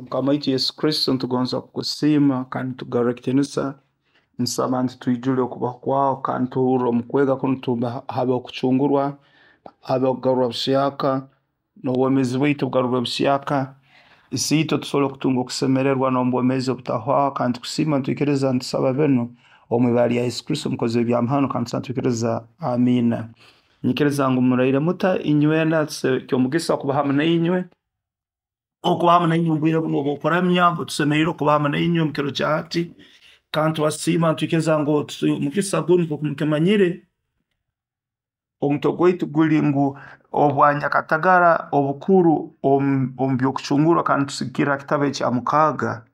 Mukama waitu Yesu Kristo, nitugonza kukusiima kandi nitukugarra ekitiinisa. Nsaba nti twijule okubaho kwawe kandi tuhurre omu kwega kunu habeho okucungurwa, habeho okugarurwa buhyaka, n'obwomeezi bwaitu bugarurwe buhyaka. Isiitwe tusobole kutunga okusemererwa n'omu bwomeezi obutahwaho kandi nitukusiima nitwikiriza nitusaba binu omu ibara lya Yesu Kristo omukozi w'ebyamahano kandi tusaba nitwikiriza, amiina. Nyikiriza ngu muraire muta inywena, ky'omugisa kuba hamu nainywe, okuba hamu nainywe omu bwire bunu obw'okuramya, tusemeriire okuba hamu nainywe omu kiro kya hati, kandi tubasiima nitwikiriza ngu omugisa gunu nkooku mukimanyire, omutwe gwaitu guli ngu obwanyakatagara obukuru omu by'okucungurwa kandi nitusigikirra ha kitabu ekya mukaaga.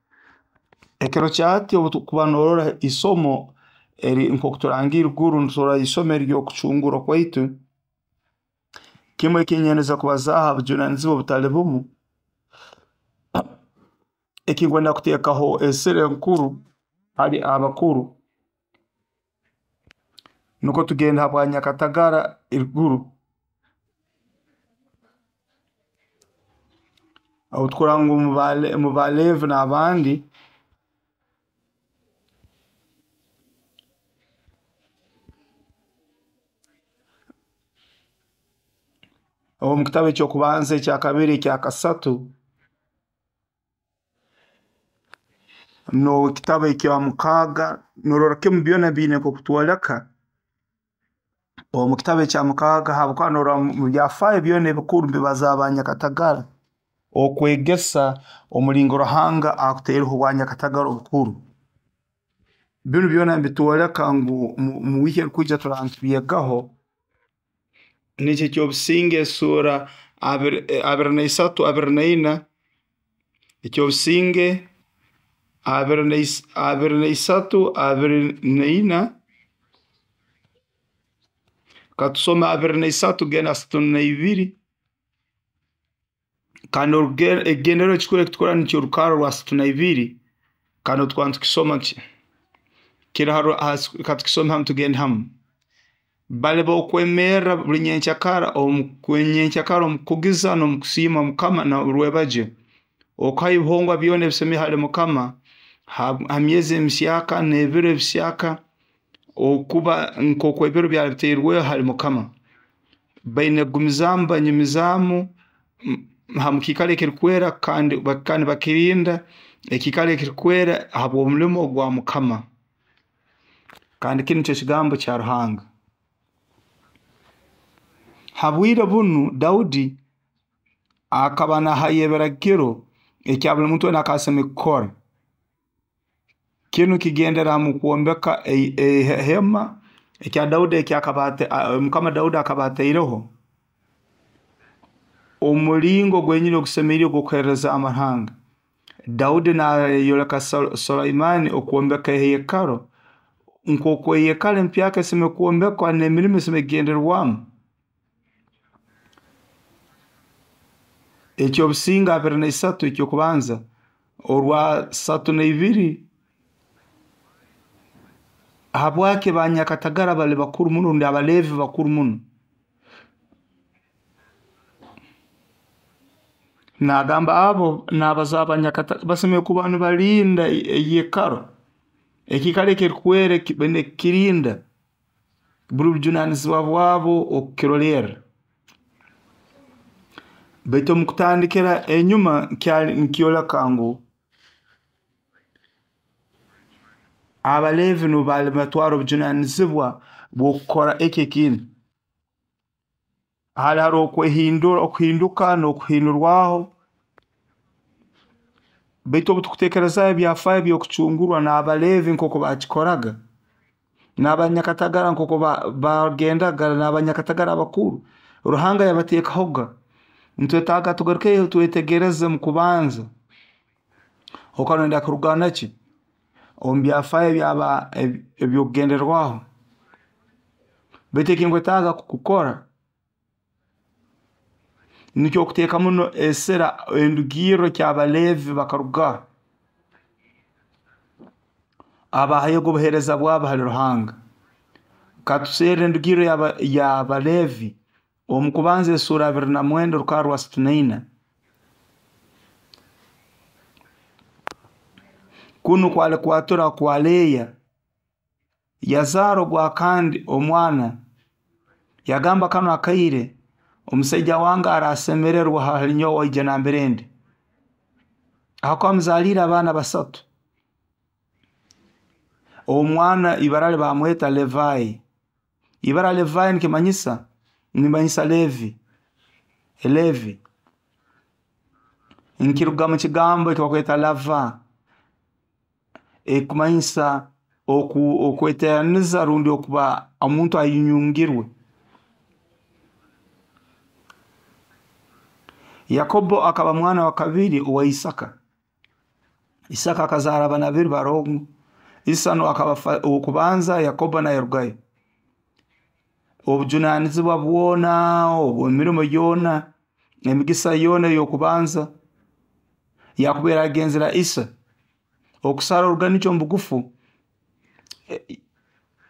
Ekiro kya hati obu turukuba noorora isomo eri nkooku turangiire iguru, niturora isomo ery'okucungurwa kwaitu, kimu eki nyendeze kubazaaho ha bujunaanizibwa obutali bumu, eki nkwenda kuteekaho esira enkuru hali abakuru, nukwo tugende ha bwanyakatagara eruguru. Obu tukurora ngu omu Baleevi n'abandi, omu kitabu eky'okubanza, ekyakabiri, ekyakasatu, n'ekitabu ekya mukaaga, noorora kimu byona biine nkooku bitwoleka, omu kitabu ekya mukaaga habwokuba noorora mu byafaayo byona ebikuru nibibazaaho banyakatagara, okwegesa omulingo Ruhanga akutaireho obwanyakatagara obukuru. Binu byona nibitwoleka ngu mu wiiki erukwija turaaba nitubyegaho, nikyo eky'obusinge esuura 23, 24, eky'obusinge 23, 24, katusome 23 tugende 32, kandi ekigendererwa ekikuru eki tukurora nikyo orukarra orwa 32, kandi obu tukuba nitukisoma, katukisome hamu tugende hamu. Bali b'okwemerra buli nyenkyakara omu kukugiza n'omu kusiima mukama rwebagyo, okuhayo ebihongwa byona ebisemiire hali mukama, ha myezi emihyaka n'ebiro ebihyaka, okuba nkooku ebiro byali bitairweho hali mukama. Baine kugumizaamu banyumizaamu ha mukiikaro ekirukwera kandi bakirinda ekiikaro ekirukwera habw'omulimo gwa mukama. Kandi kinu nikyo kigambo kya Ruhanga. Ha bwire bunu Daudi akaba naahayo ebiragiro ekya buli muntu weena akaba asemeriire kukora. Kinu kigendera mu kwombeka ehema ekya Daudi ekyakaba mukama Daudi akaba ataireho omulingo gwenyini ogusemeriire ogw'okuheerezaamu Ruhanga. Daudi naayoleka Sulemani okwombeka eheekaro, nkooku eheekaro empyaka esemeriire kwombekwa n'emirimo esemeriire kugenderwamu. Eky'obusinge 23 eky'okubanza, orwa 32, habwaki banyakatagara bali bakuru muno rundi Abaleevi bakuru muno? Naagamba abo naabaza banyakatagara basemeriire kuba nibalinda eyeekaro, ekiikaro ekirukwera baine kukirinda, buli bujunaanizibwa bwabo okukirolerra. Baitu omu kutandikira enyuma kyali nikyoleka ngu Abaleevi nubo baali nibatwara obujunaanizibwa bw'okukora eki ekintu. Hali haroho okuhinduka n'okuhindurwaho, baitu obu tukuteekerezaaho ebyafaayo eby'okucungurwa n'Abaleevi nkooku baakikoraga, n'abanyakatagara nkooku baagendaga, n'abanyakatagara abakuru, Ruhanga yabateekahoga. Nitwetaaga tugarukeyo twetegereze mu kubanza, okaba noyenda kuruga ki omu byafaayo eby'okugenderwaho. Baitu eki nkwetaaga kukora, nikyo kuteeka muno esira endugirro ki Abaleevi bakaruga abahayoga obuheereza bwabo hali Ruhanga. Katuserre endugirro y'Abaleevi omu kubanza esuura 29 orukarra rwa 34. Kunu kwali kwatura kwa Leeya. Yazaara ogwakandi omwana, yagamba kanu akaire omusaija wange arasemererwa hali nyowe aije nambere ndi, ahakuba amuzaliire abaana 3. Omwana ibara lye bamweta Levi. Ibara Levi nikimanyisa Levi. Levi nkiruga mu kigambo ekibakweta lava, ekumanyisa okweteraniza rundi okuba omuntu ayungirwe. Yakobo akaba mwana wa kabiri owa Isaka. Isaka akazaara abaana babiri barongo. Isano akaba ow'okubanza, Yakobo nayarugayo. Obujunanizibwa bwona, emirimo yoona, emigisa yoona ey'okubanza yakubaire agenzere ha Isa. Okusara oruganikyo omu bugufu,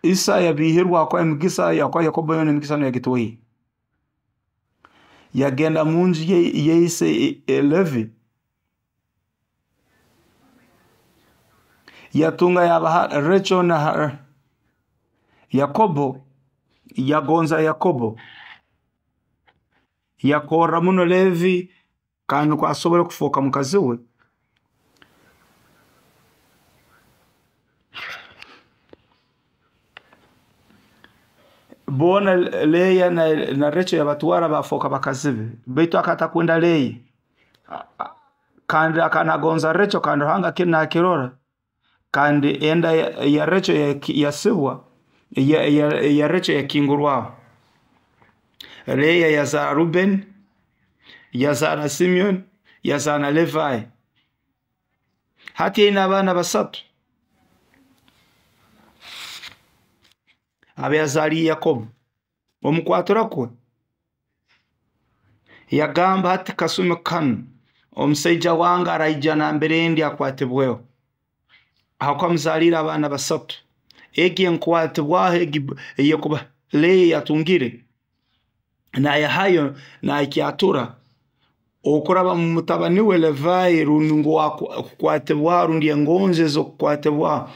Isa yabihirwa habwokuba emigisa, habwokuba Yakobo yoona emigisa niwe yagitwaire. Yagenda munju ya ise Levi, yatunga yabaha Recho na Yakobo, yagonza Yakobo. Yakorra muno Levi kandi nukwo asobole kufooka mukazi we. Boona Leeya na Recho yabatwara bafooka bakazi be, baitu akaba atakwenda Leeya. Kandi akaba nagonza Recho, kandi Ruhanga kinu nakirora, kandi enda ya Recho yasibwa, ya Recho yakingurwaho. Leeya yazaara Ruben, yazaara Simeon, yazaara na Levi. Hati aine abaana 3 abayazaaliire Yakobo. Omu kwatura kwe yagamba hati kasumi kanu omusaija wange araija nambere ndi akwatibweho, ahakuba amuzaliire abaana 3. Egi enkwatibwaho egi eyekuba Leeya yatungire nayahayo nakyatura okuraba mu mutabani we Levi, rundi ngu kukwatibwaho rundi engonzi ez'okukwatibwaho.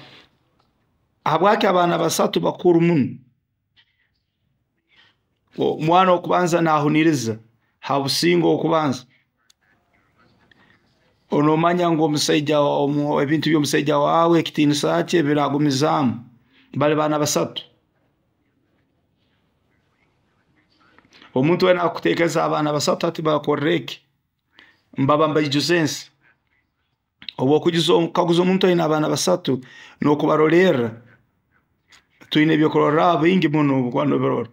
Habwaki abaana 3 bakuru muno? Omwana w'okubanza nahuniriza ha businge ow'okubanza. Onomanya ngu omusaija ebintu by'omusaija wawe, ekitiinisa kye biragumizaamu. Bali baana 3. Omuntu weena akuteekereza abaana 3 hati bakorra eki, mbaba mbaijuza ensi. Obu okukaguza omuntu aine abaana 3 n'okubarolerra, twine ebyokurorraho bingi muno obu okuba nobirora.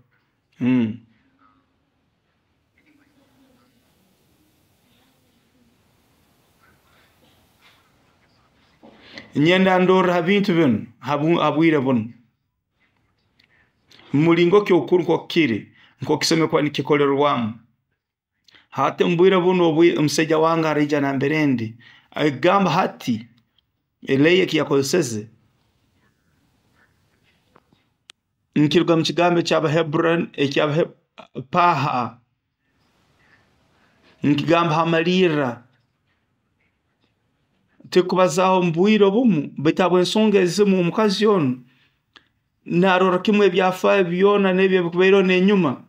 Nyenda ndorre ha bintu binu ha bwire bunu. Mulingo ki obukuru nkooku kiri, nkooku kisemeriire kuba nikikolerwamu. Hati omu bwire bunu omusaija wange araija nambere ndi, ekigambo hati Leeya eki yakozeseze nkiruga mu kigambo paha, nkigamba hamalirra, tikubazaaho omu bwire obumu, baitu habw'ensonga ezimu omukazi onu narorra kimu ebyafaayo byona n'ebi ebikubaireho n'enyuma.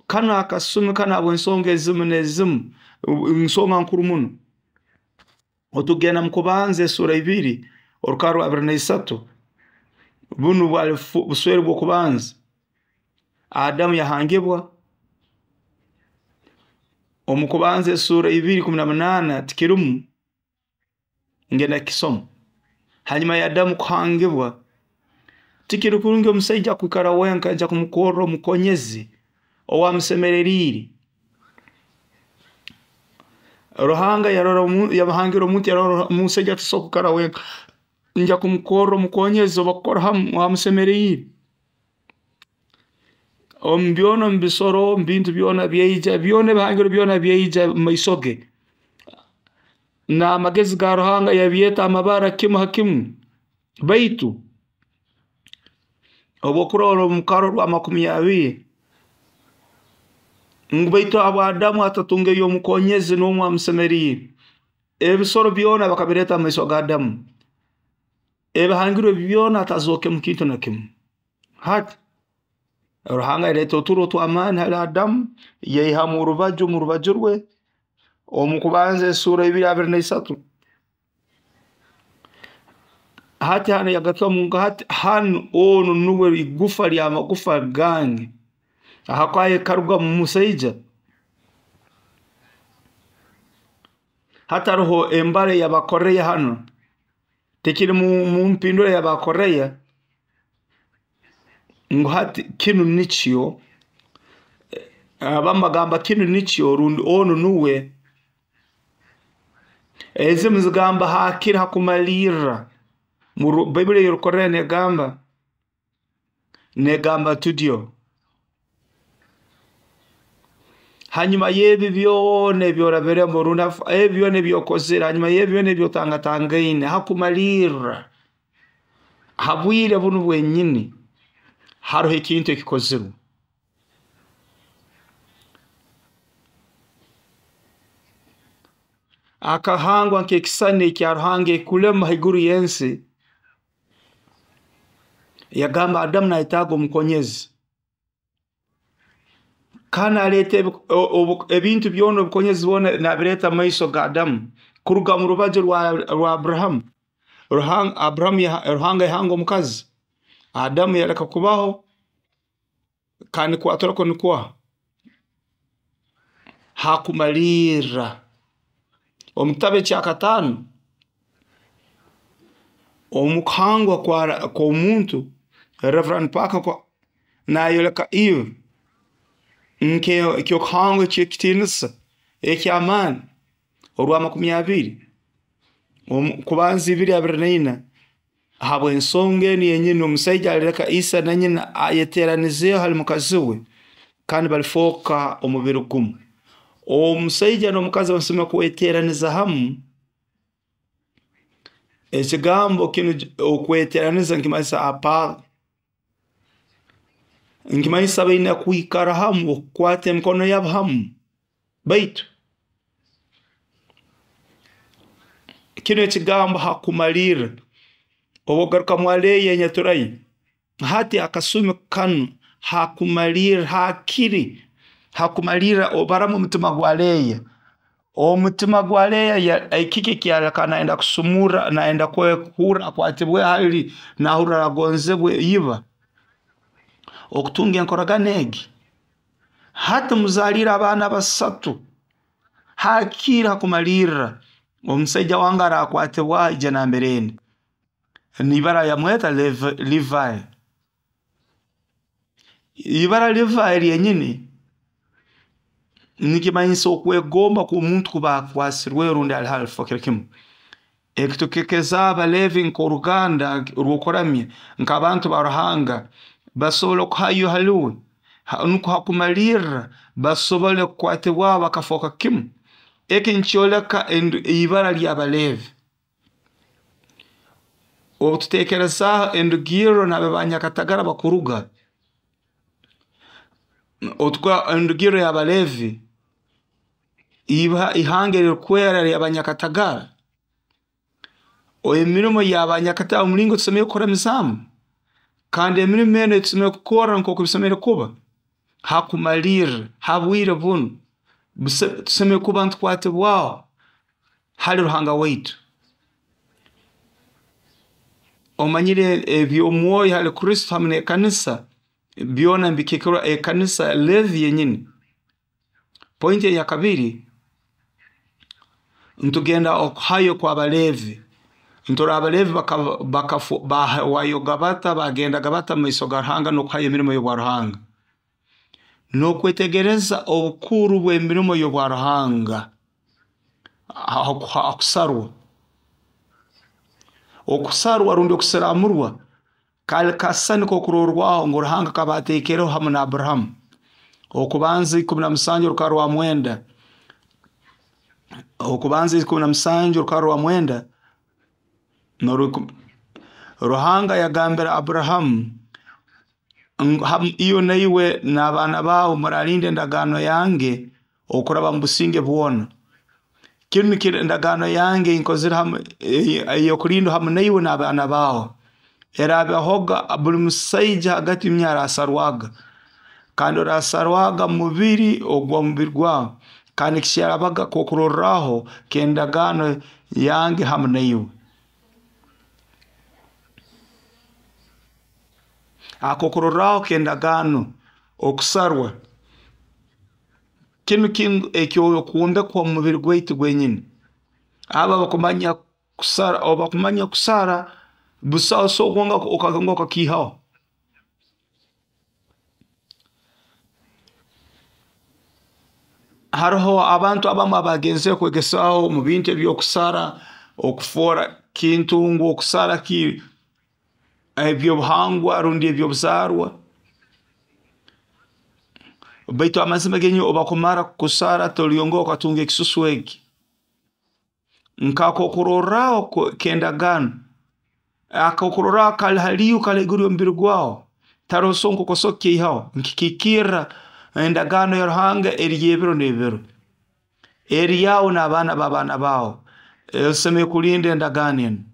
Kanu akasumi kanu habw'ensonga ezimu n'ezimu, nsonga nkuru muno. Otugenda mu Kubanza esura 2, orukarra rwa 23, bunu bwali buswere bw'okubanza. Adamu yahangibwa. Omu Kubanza esura 2:18 tikirumu, ngenda kukisoma. Hanyuma ya Adamu kuhangibwa, tikiri kurungi omusaija kwikara wenka, nja kumukorra omukonyezi ow'amusemereriire. Ruhanga yarora yamuhangira omuntu, yarora omusaija tasobora kwikara wenka, nja kumukorra omukonyezi ow'abakukora hamu amusemeriire. Omu byona, omu bisoro, omu bintu byona byaija, byona ebihangirwe byona byaija omu maiso ge. N'amagezi ga Ruhanga yabyeta amabara kimu ha kimu. Baitu obu okurora omu rukarra rwa 20, ngu baitu habwa Adamu atatungeyo omukonyezi n'omu amusemeriire. Ebisoro byona bakabireeta omu maiso ga Adamu. Ebihangirwe byona hatazookemu kintu na kimu. Hati Ruhanga yaleeta oturo tw'amaani hali Adamu, yaihamu orubaju mu rubaju rwe. Omu Kubanza esuura 2:23. Hati hanu yagarukamu ngu hati hanu onu nuwe igufa ly'amagufa gange, ahakuba ekaruga mu musaija. Hati haroho embara ey'Abakoreya hanu, tekiri mu mpindura y'Abakoreya ngu hati kinu nikyo, abamu bagamba kinu nikyo rundi onu nuwe. Ezimu zigamba hakiri hakumalirra. Baibuli ey'Orukoreya negamba tudyo. Hanyuma y'ebi byona ebyorabiremu, rundi ebi byona ebyokozere, hanyuma y'ebi byona ebyotangatangaine, hakumalirra, ha bwire bunu bwenyini, haroho ekintu ekikozirwe. Akahangwa nk'ekisani ekya Ruhanga ekulema haiguru y'ensi, yagamba Adamu nayetaaga omukonyezi. Kandi naleeta ebintu byona, obukonyezi bwona nabireeta mu maiso ga Adamu kuruga mu rubaju rwa Abrahamu. Abrahamu Ruhanga yahanga omukazi, Adamu yaleka kubaho, kandi kwaturako nikuha? Hakumalirra. Omu kitabu ekyakataano, omu kuhangwa kw'omuntu, Reverend Parker nayoleka Eve nk'ekyokuhangwa eky'ekitiinisa eky'amaani orwa 20, Kubanza 2:24, habw'ensonga enu yenyini omusaija alireka ise na nyina ayeteranizeeho hali mukazi we, kandi balifooka omubiri gumu. Omusaija n'omukazi basemeriire kweteraniza hamu. Ekigambo kinu okweteraniza nikimanyisa apa, nikimanyisa baine kwikara hamu, okukwata emikono yabo hamu. Baitu kinu ekigambo hakumalirra, obu ogaruka mwaleeya enyaturayo, hati akasumi kanu hakumalirra, hakiri hakumalirra obaramu omutima gwa Leeya. Omutima gwa Leeya, kiki ekyaleka nayenda kusumurra, nayenda kuhurra akwatibwe hali, nahurra agonzebwe iba, okutunga enkoragana egi. Hati muzaliire abaana basatu, hakiri hakumalirra, omusaija wange arakwatibwaho aije nambere ndi. N'ibara yamweta Levi. Ibara Levi lyenyini nikimanyisa okwegomba kw'omuntu kuba akwasirweho rundi ali hali alifokere kimu. Eki Abaleevi nk'oruganda rw'okuramya, nk'abantu ba Ruhanga, basobole kuhayo haliwe, nukwo hakumalirra basobole kukwatibwaho bakafooka kimu. Eki nikyoleka ibara ly'Abaleevi. Obu tuteekerezaaho endugirro nambere banyakatagara bakuruga, endugirro y'Abaleevi, ihanga erirukwera ery'abanyakatagara, emirimo y'abanyakatagara omulingo tusemeriire kuramizaamu, kandi emirimo enu eitusemeriire kukora nk'oku bisemeriire kuba, hakumalirra, ha bwire bunu, tusemeriire kuba nitukwatibwaho hali Ruhanga waitu. Omanyire eby'omwoyo hali Kristo hamu n'ekanisa, byona nibikiikirra ekanisa Leevi yenyini. Pointi eyakabiri, nitugenda okuhayo kw'Abaleevi. Nturora Abaleevi bahwayoga bata, bagendaga bata mumaiso ga Ruhanga n'okuhayo emirimo y'obwa Ruhanga. N'okwetegereza obukuru bw'emirimo y'obwa Ruhanga, hakusarwa. Okusarwa rundi okusiramurwa, kali kasisani k'okurorwaho ngu Ruhanga akaba ateekereho hamu na Abrahamu. Okubanza 17 orukarra rwa 9. Okubanza 17 orukarra rwa 9. Ruhanga yagambira Abrahamu, iwe naiwe n'abaana baawe muralinda endagaano yange okuraba mu businge bwona. Kinu nikyo endagaano yange einkozire hamu ey'okulindwa hamu naiwe n'abaana baawe. Eraabahoga buli musaija hagati omu inywe araasarwaga, kandi oraasarwaga mu mubiri ogw'omubiri gwawe, kandi kyarabaga kokurorraho k'endagaano yange hamu naiwe. Akokurorraho k'endagaano, okusarwa, kinu kintu eky'okwombekwa omu mubiri gwaitu gwenyini. Abo abakumanya kusara, obu bakumanya kusara, busaho so kwonka okakiihaho. Haroho abantu abamu abagenzere kwegesaaho omu bintu eby'okusara, okufoora kintu ngu okusara eby'obuhangwa rundi eby'obuzaarwa. Baitu amazima genyini obu bakumara kukusara tolyongera okatunga ekisusu eki. Nk'akokurorraho k'endagaano, akokurorraho kali haliiwe, kali haiguru y'omubiri gwawe, taroho so nk'oku osobola kukiihaho, nikikiikirra endagaano ya Ruhanga eri y'ebiro n'ebiro. Eri yaawe n'abaana b'abaana baawe. Osemeriire kulinda endagaano enu.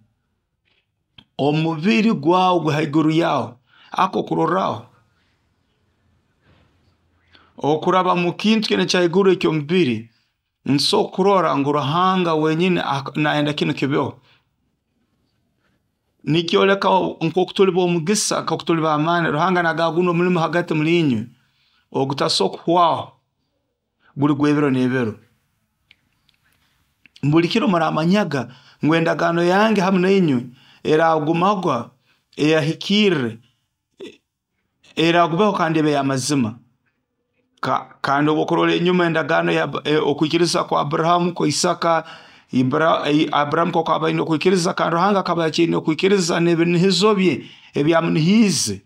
Omubiri gwawe guli haiguru yaawe, akokurorraho. Okuraba mu kintu kinu ekya haiguru eky'omubiri, ntusobora kurora ngu Ruhanga wenyini nayenda kinu kibeho. Nikyoleka nk'oku tuli b'omugisa, nk'oku tuli b'amaani. Ruhanga nagamba gunu omulimo hagati muli inywe ogutaso kuhwaho, guli gw'ebiro n'ebiro. Buli kiro muramanyaga ngu endagaano yange hamu nainywe eragumaga, eyahikirre, eragumaho kandi ebe y'amazima. Kandi obu okurora enyuma endagaano okwikiriza kwa Abburahamu, kwa Isaaka, Abburahamu nkooku akaba aine okwikiriza kandi Ruhanga akaba akyaine okwikiriza n'ebinihizo bye ebi yamunihiize.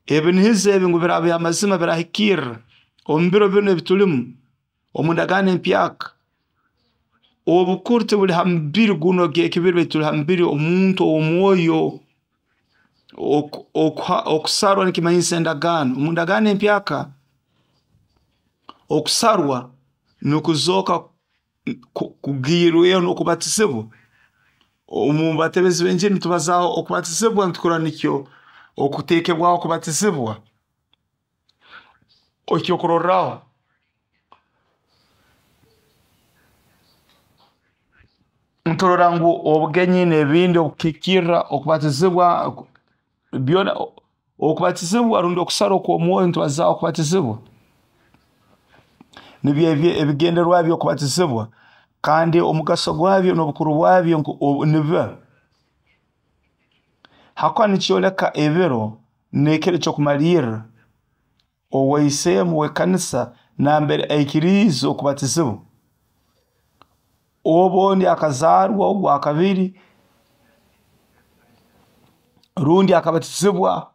Ebinihizo ebi ngu biraaba by'amazima birahikirra omu biro binu ebi tulimu, omu ndagaano empyaka. Obukuru tibuli ha mubiri gunu ogw'ekibiri baitu tuli ha mubiri omuntu ow'omwoyo. Okusarwa nikimanyisa endagaano. Omu ndagaano empyaka, okusarwa nukuzooka kugiirweho n'okubatizibwa. Omu batebezi b'enjiri nitubazaaho okubatizibwa nitukurora nikyo okuteekebwaho okubatizibwa. Ekyokurorraho, nturora ngu obugenyi n'ebindi obukukiikirra okubatizibwa, byona okubatizibwa rundi okusarwa okw'omwoyo nitubazaaho okubatizibwa. Nibyo ebigendererwa by'okubatizibwa kandi omugaso gwabyo n'obukuru bwabyo nibiba. Hakuba nikyoleka ebiro n'ekiro eky'okumalirra, owaiseemu w'ekanisa nambere aikiriize okubatizibwa. Obu ondi akazaarwa ogwakabiri, rundi akabatizibwa,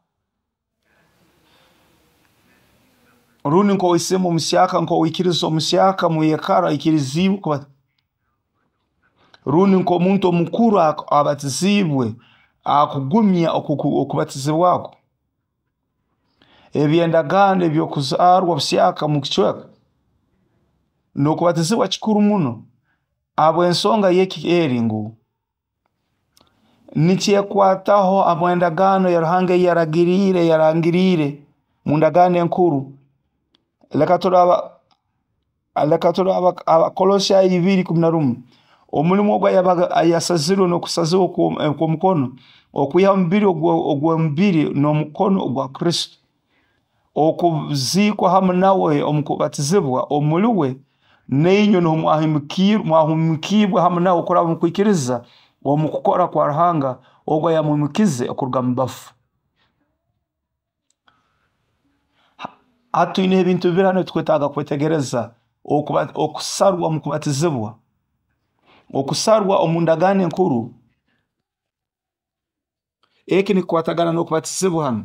rundi nk'owaiseemu omuhyaka, nk'owaikiriza omuhyaka omu yekaru aikiriziibwe, rundi nk'omuntu omukuru abatiziibwe, akugumya okubatizibwa kwe. Eby'endagaano eby'okuzaarwa buhyaka omu kicweka, n'okubatizibwa kikuru muno habw'ensonga y'eki eri ngu, nikyekwataho habw'endagaano ya Ruhanga ei yaragiriire, yarangiriire omu ndagaano enkuru. Leka turole Abakolosaayi 2:11. Omulimo ogu yasazirwe n'okusazirwa okw'omukono, okwiha omubiri ogw'omubiri n'omukono gwa Kristo. Okuziikwa hamu nawe omu kubatizibwa omuli uwe, nainywe nuho mwahumuukiibwe hamu nawe okuraba omu kwikiriza omu kukora kwa Ruhanga ogu ayamwimukize kuruga omu bafu. Hati twineho ebintu bibiri hanu ebitukwetaaga kwetegereza, okusarwa omu kubatizibwa, okusarwa omu ndagaano enkuru, eki nikikwatagana n'okubatizibwa hanu,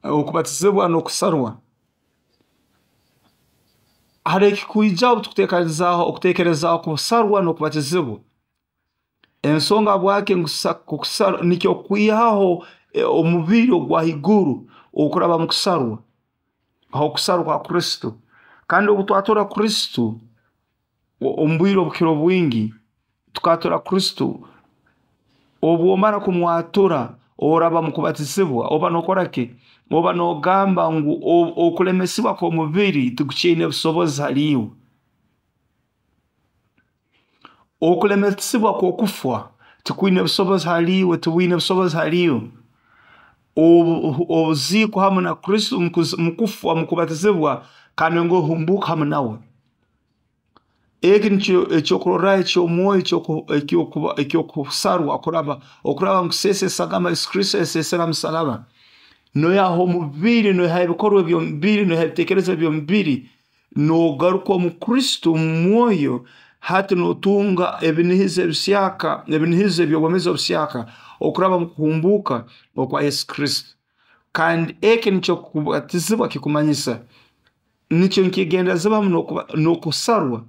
okubatizibwa n'okusarwa. Haroho ekikwijaho obu tukuteekerezaaho okuteekerezaaho kusarwa n'okubatizibwa. Ensonga habwaki kusarwa nikyo kwihaho omubiri ogwa haiguru okuraba omu kusarwa, okusarwa kwa Kristo. Kandi obu twatura Kristo, Omu bwire obukira obwingi tukatura Kristo, obwomara kumwatura oraba mukubatizibwa, oba nokora ki? Oba nogamba ngu okulemesibwa kw'omubiri tikukyaine busobozi hali iwe. Okulemesibwa kw'okufa tikwine busobozi hali iwe, tibwine busobozi hali iwe. Obuziikwa hamu na Kristo mukufa, mukubatizibwa, kandi ngu ohumbuuka hamu nawe. Eki nikyo ekyokurorraho eky'omwoyo ekyokusarwa okuraba mukuseesa esagama Yesu Kristo yaseesere ha musalaba. Noihaho omubiri, noihaho ebikorwa eby'omubiri, noihaho ebiteekerezo eby'omubiri, nogaruka omu Kristo omu mwoyo, hati notunga ebinihizo ebihyaka, ebinihizo eby'obwomeezi obuhyaka okuraba omu kuhumbuuka okwa Yesu Kristo. Kandi eki nikyo kubatizibwa kikumanyisa, nikyo nikigenderezebwa hamu n'okusarwa.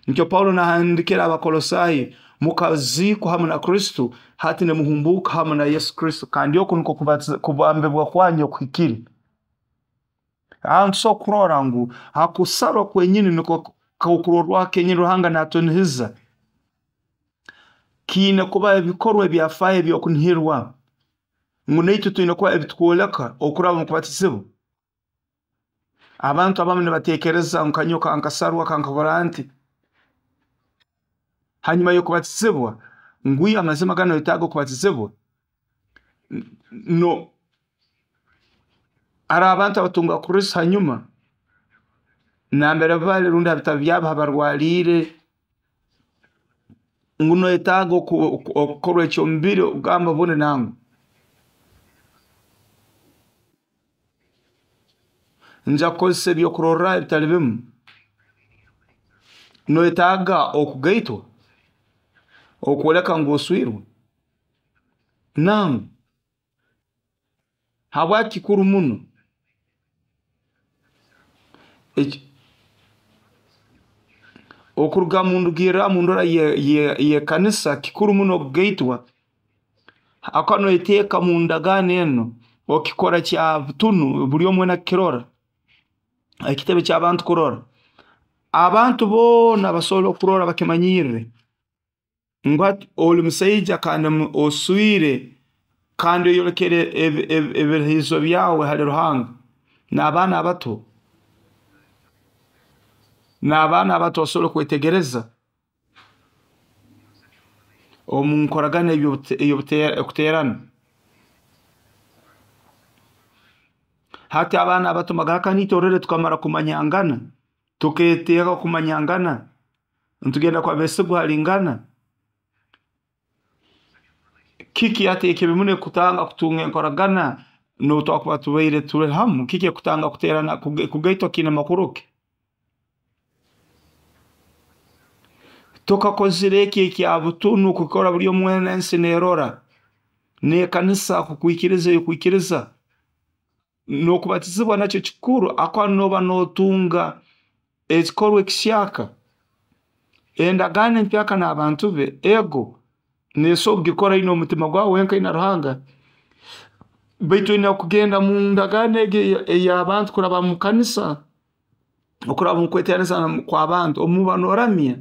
Nikyo Paulo nahandikira Abakolosaayi, mukaziikwa hamu na Kristo, hati nimuhumbuuka hamu na Yesu Kristo, kandi oku nikwo kubambibwa kwanyu okuhikire. Aho nitusobora kurora ngu ha kusarwa kwenyini nikwo kokurorwaho kenyini Ruhanga natunihiza. Kiine kuba ebikorwa ebyafaayo ebyokunihirwa, ngu naitwe twine kuba ebitukwoleka okuraba omu kubatizibwa. Abantu abamu nibateekereza ngu kanyowe kankasarwa kankakora nti. Hanyuma y'okubatizibwa, ngu iyo amazima ganu noyetaaga okubatizibwa. No, hariho abantu abatunga Kristo hanyuma, nambere bali rundi ha bitabu byabo habarwaliire, ngu noyetaaga okukorwa eky'omubiri okugamba obundi nangwa. Nja kukozesa ebyokurorraho ebitali bimu. Noyetaaga okugaitwa, okwoleka ngu oswirwe? Nangwa. Habwaki kikuru muno? Okuruga mundugirra mundora y'ekanisa, kikuru muno okugaitwa. Habwokuba noyeteeka mu ndagaano enu, okikora kya butunu, buli omu weena akukirora, ekitebe ky'abantu kurora. Abantu boona basobole okurora bakimanyirre ngu hati oli musaija kandi oswire, kandi oyolekere ebirahizo byawe hali Ruhanga. N'abaana abato, n'abaana abato basobole kwetegereza omu nkoragana ey'okuteerana. Hati abaana abato mbagamba naitwe orole tukamara kumanyangana, tukeeteeka kumanyangana, nitugenda kuba beesigwa halingana. Kiki hati ekibi muno ekikutanga kutunga enkoragana n'obu twakuba tubaire tuli hamu? Kiki ekikutanga kuteerana, kugaitwa kiine makuru ki? Tukakozire eki ekya butunu kukora buli omu weena ensi neerora, n'ekanisa kukwikiriza ekwikiriza. N'okubatizibwa nakyo kikuru, habwokuba nooba nootunga ekikorwa ekihyaka. Endagaano empyaka n'abantu be, ego, neesobora kugikora ine omutima gwawe wenka na Ruhanga, baitu oine kugenda mu ndagaano egi ey'abantu kuraba mu kanisa, okuraba omu kweteeraniza kw'abantu, obu nooramya.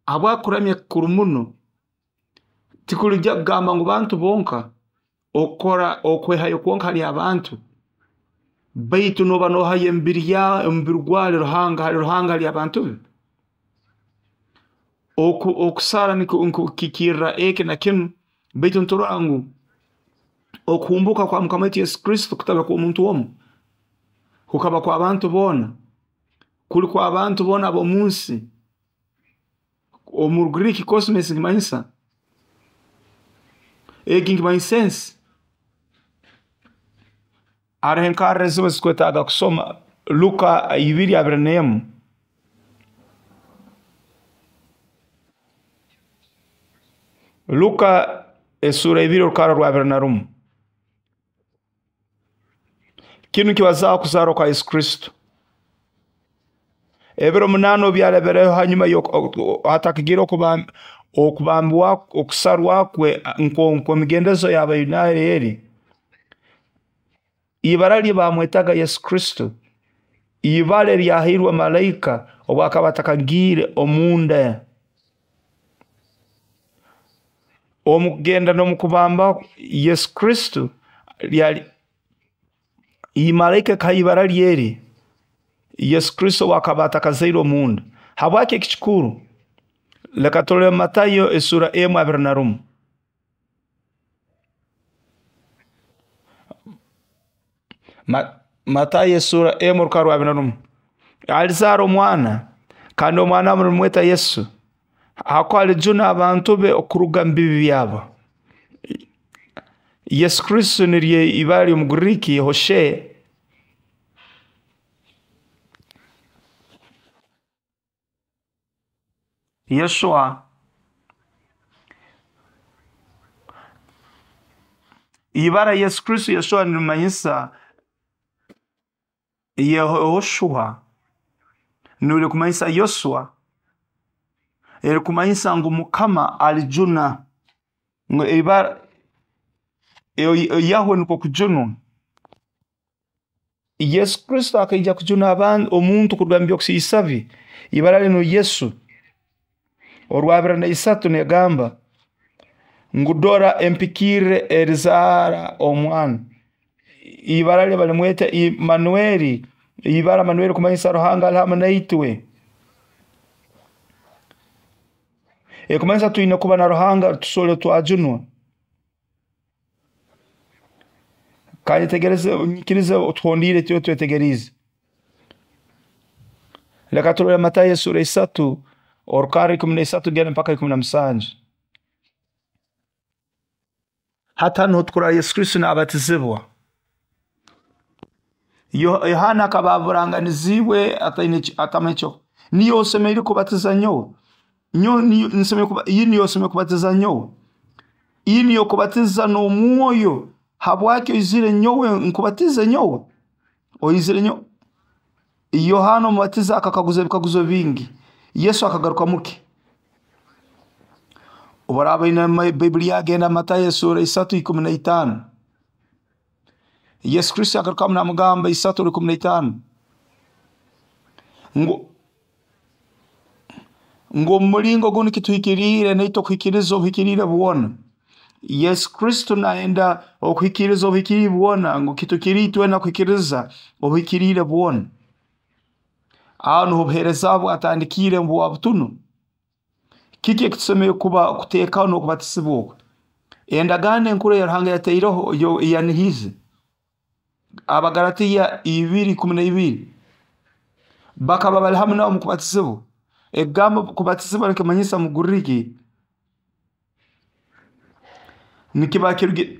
Habwaki kuramya kikuru muno? Tikuli kugamba ngu bantu bonka, okukora okwehayo kwonka hali abantu, baitu nooba noohayo emibiri yawe, omubiri gwawe hali Ruhanga, hali Ruhanga hali abantu be. Okusara nikukiikirra eki na kinu, baitu niturora ngu okuhumbuuka kwa Mukama waitu Yesu Kristo kutabe kw'omuntu omu, kukaba kw'abantu boona, kuli kw'abantu boona ab'omu nsi. Omu Rugriiki cosmos nikimanyisa, egi nikimanyisa ensi. Haroho enkarra ezimu ezitukwetaaga kusoma, Luka 2:21. Luka esuura 2 orukarra rwa 21. Kinu nikibazaaho okuzaarwa kwa Yesu Kristo. Ebiro 8 obu byarabireho hanyuma hatakagiire okubambwa, okusarwa kwe nk'emigendezo y'Abayudaaya eri, ibara lye baamwetaga Yesu Kristo, ibara eryahairwe malaika obu akaba atakagiire omunda. Omu kugenda n'omukubamba Yesu Kristo lyali malaika ekaha ibara lye eri Yesu Kristo obu akaba atakazairwe omunda. Habwaki eki kikuru? Leka turole Matayo esura 1:21. Matayo esura 1:21. Alizaara omwana, kandi omwana mulimweta Yesu, hakuba alijuna abantu be okuruga omu bibi byabo. Yesu Kristo niryo ibara ly'Omugiriki Hoshe. Yeshua. Ibara Yesu Kristo Yeshua nirimanyisa Yehoshua, nirikumanyisa Yoswa, erikumanyisa ngu Mukama alijuna. Ngu ibara Yahwe nukwo kujunwa. Yesu Kristo akaija kujuna abantu omuntu kuruga mu by'okusiisa bye. Ibara linu Yesu. Orwa 23 negamba ngu dora empikirire erizaara omwana. Ibara lye balimweta Imanueli. Ibara Manueli kumanyisa Ruhanga ali hamu naitwe. Ekumanyisa twine kuba na Ruhanga tusobole twajunwa. Kandi tegereze, nyikirize otuhondiire tyo twetegeriize. Leka turole Matayo esura 3 orukarra 13 genda mpaka 17. Hati hanu tukurora Yesu Kristo nabatizibwa. Yohana akaba aburanganiziibwe atamanyi kyo. Niyo osemeriire kubatiza nyowe. Nyowe iyi niyo osemeriire kubatiza nyowe. Iyi niyo kubatiza n'omwoyo. Habwaki oizire nyowe nkubatize nyowe? Oizire nyowe. Yohana omubatiza akakaguza ebikaguzo bingi. Yesu akagarukamu ki? Obu oine Baibuli yagenda Matayo esura 3:15. Yesu Kristo agarukamu namugamba 3:15 ngu omu mulingo gunu kituhikiriire naitwe okuhikiriza obuhikiriire bwona. Yesu Kristo nayenda okuhikiriza obuhikiriire bwona, ngu kituhikiriire itwena kuhikiriza obuhikiriire bwona. Aho nuho obuheereza bwe atandikiire bwa butunu. Kiki ekitusemeriire kuba kuteekaho n'okubatizibwa oku? Endagaano enkuru eya Ruhanga yataireho eyanihize. Abagaratiya 2:12 bakaba bali hamu nawe omu kubatizibwa. Ekigambo kubatizibwa nikimanyisa mu Guriki nikiba kirugi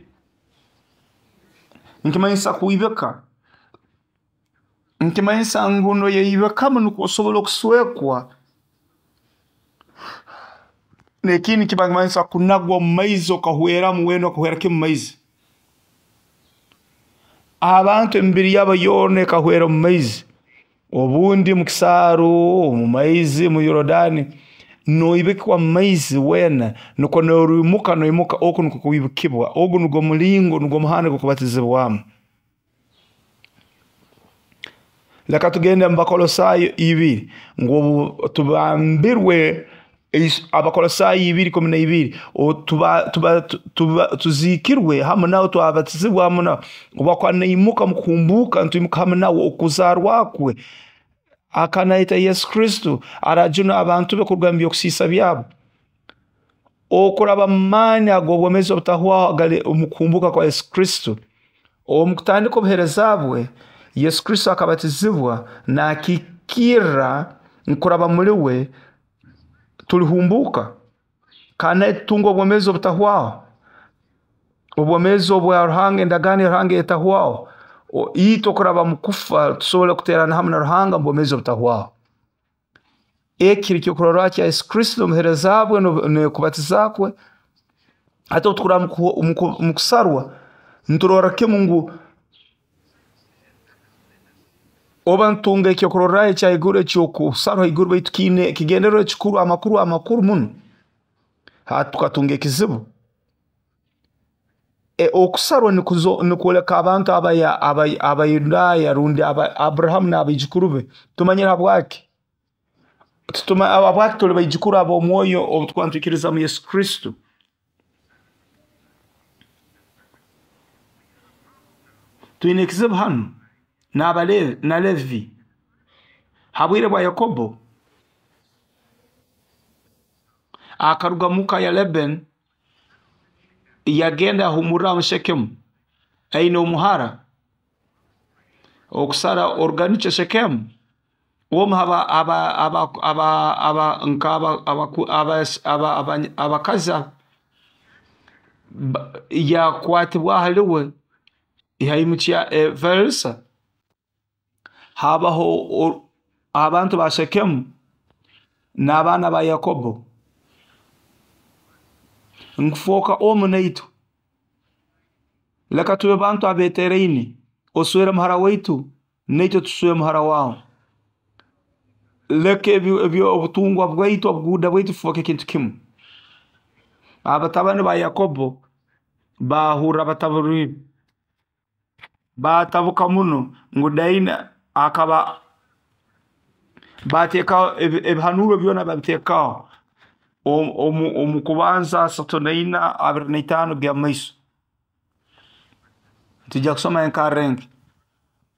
nikimanyisa kwibika. Nikimanyisa ngu noyeyibikamu nukwo osobole okuswekwa. N'ekindi kiba nikimanyisa kunagwa omu maizi okahweramu weena okahwera kimu omu maizi. Abantu emibiri yabo yoona ekahwera omu maizi. Obundi mu kisaaru, omu maizi, mu Yorodani, noibikwa mu maizi weena, nukwo noriimuka noimuka oku nukwo kwibikibwa. Ogu nugwo mulingo, nugwo muhanda gw'okubatizibwamu. Leka tugende mu Bakolosaayo 2 ngu tubambirwe Abakolosaayo 2:12 tuziikirwe hamu nawe, twabatizibwa hamu nawe. Obu akuba naimuka mu kuhumbuuka, nitwimuka hamu nawe okuzaarwa kwe. Akanayeta Yesu Kristo arajuna abantu be kuruga mu by'okusiisa byabo. Okuraba mu maani ag'obwomeezi obutahwaho agali omu kuhumbuuka kwa Yesu Kristo. Omu kutandika obuheereza bwe, Yesu Kristo akabatizibwa nakiikirra kuraba muli we tulihumbuuka kandi tutunga obwomeezi obutahwaho. Obwomeezi obwa Ruhanga, endagaano ya Ruhanga etahwaho. Itwe kuraba mu kufa tusobole kuteerana hamu na Ruhanga omu bwomeezi obutahwaho. Eki kiri kyokurorraho kya Yesu Kristo n'obuheereza bwe n'okubatiza kwe. Hati obu tukurora mu kusarwa, niturorra kimu ngu oba nitutunga ekyokurorraho ekya haiguru eky'okusarwa haiguru baitu kiine ekigendererwa ekikuru, amakuru amakuru muno. Hati tukatunga ekizibu. Okusarwa nikwoleka abantu Abayudaaya rundi Aburahamu n'abaijukuru be. Tumanyire habwaki? Habwaki tuli baijukuru ab'omwoyo obu tukuba nitwikiriza mu Yesu Kristo? Twine ekizibu hanu na Levi. Ha bwire bwa Yakobo, akaruga muka ya Laban, yagenda yahumurraho mu Shekemu, aine omuhara. Okusara oruganikyo Shekemu, omu abakazi yakwatibwa haliwe, yaimukya Verisa. Habaho abantu ba Shekemu n'abaana ba Yakobo. Nkufooka omu naitwe. Leka tube bantu abeeteraine, oswere muhara waitu, naitwe tuswere muhara wawe. Leka obutungwa bwaitu, obuguuda bwaitu bufooke kintu kimu. Abatabani ba Yakobo bahurra bataburire, batabuka muno ngu Daina akaba bateekaho ebihanuuro byona babiteekaho omu Kubanza 34 25 kugenda mumaiso. Nitwija kusoma enkarra enke.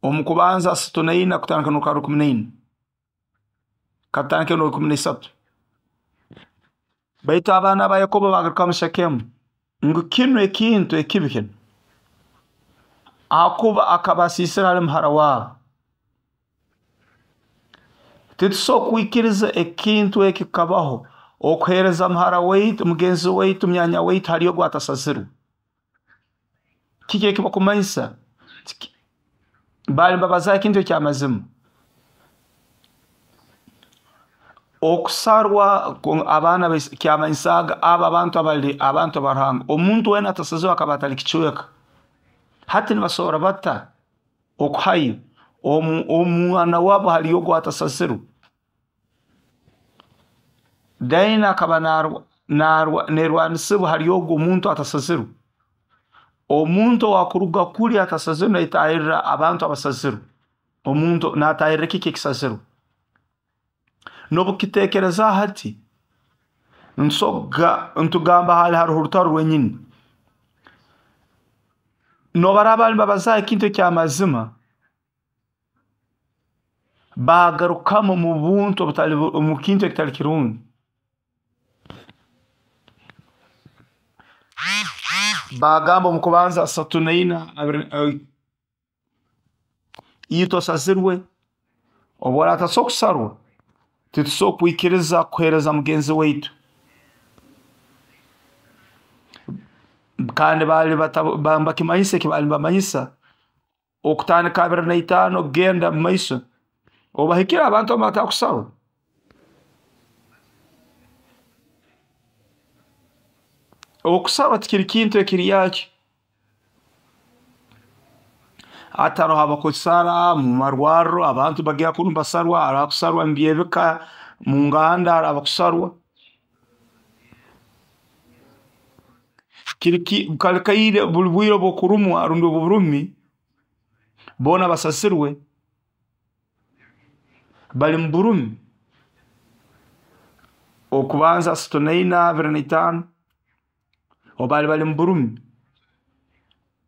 Omu Kubanza 34 kutandika n'orukarra 14. Katutandike n'orwa 13. Baitu abaana ba Yakobo bagarukamu Shekemu ngu kinu ekintu ekibi kinu, ahakuba akaba asiisire hali muhara wabo. Titusobora kwikiriza ekintu eki kukabaho, okuheereza muhara waitu, mugenzi waitu, munyanya waitu hali ogu atasazirwe. Kiki eki bakumanyisa? Baali nibabazaho ekintu eky'amazima. Okusarwa abaana kyamanyisaaga abo abantu abali abantu ba Ruhanga. Omuntu weena atasazirwe akaba atali kicweka. Hati nibasobora bata okuhayo omwana wabo hali ogu atasazirwe? Daina akaba nerwanisibwa hali ogu omuntu atasazirwe. Omuntu owakuruga kuli atasazirwe naitahirra abantu abasazirwe. Omuntu natahirra kiki ekisazirwe? N'obukitekereza hati, ntugamba hali haroho orutaro rwenyini. Nobaraba nibabazaho ekintu eky'amazima, bagarukamu mu buntu obutali omu kintu ekitali kirungi. Bagamba omu Kubanza 34, itwe osazirwe, obu oratasobora kusarwa, titusobora kwikiriza kuheereza mugenzi waitu. Kandi baali bakimanyisa eki baali nibamanyisa, okutandika 25 kugenda mumaiso, obahikire abantu abatakusarwa. Okusarwa tikiri kintu ekiri yakyo. Hati haroho abakusara mu marwarro, abantu bagenda kunu basarwa, haro abakusarwa mu by'ebika, mu nganda haro abakusarwa. Kali kaire buli bwire obw'okurumwa rundi oburumi, boona basazirwe bali mu burumi. Okubanza 34, 25, obu baali bali mu burumi.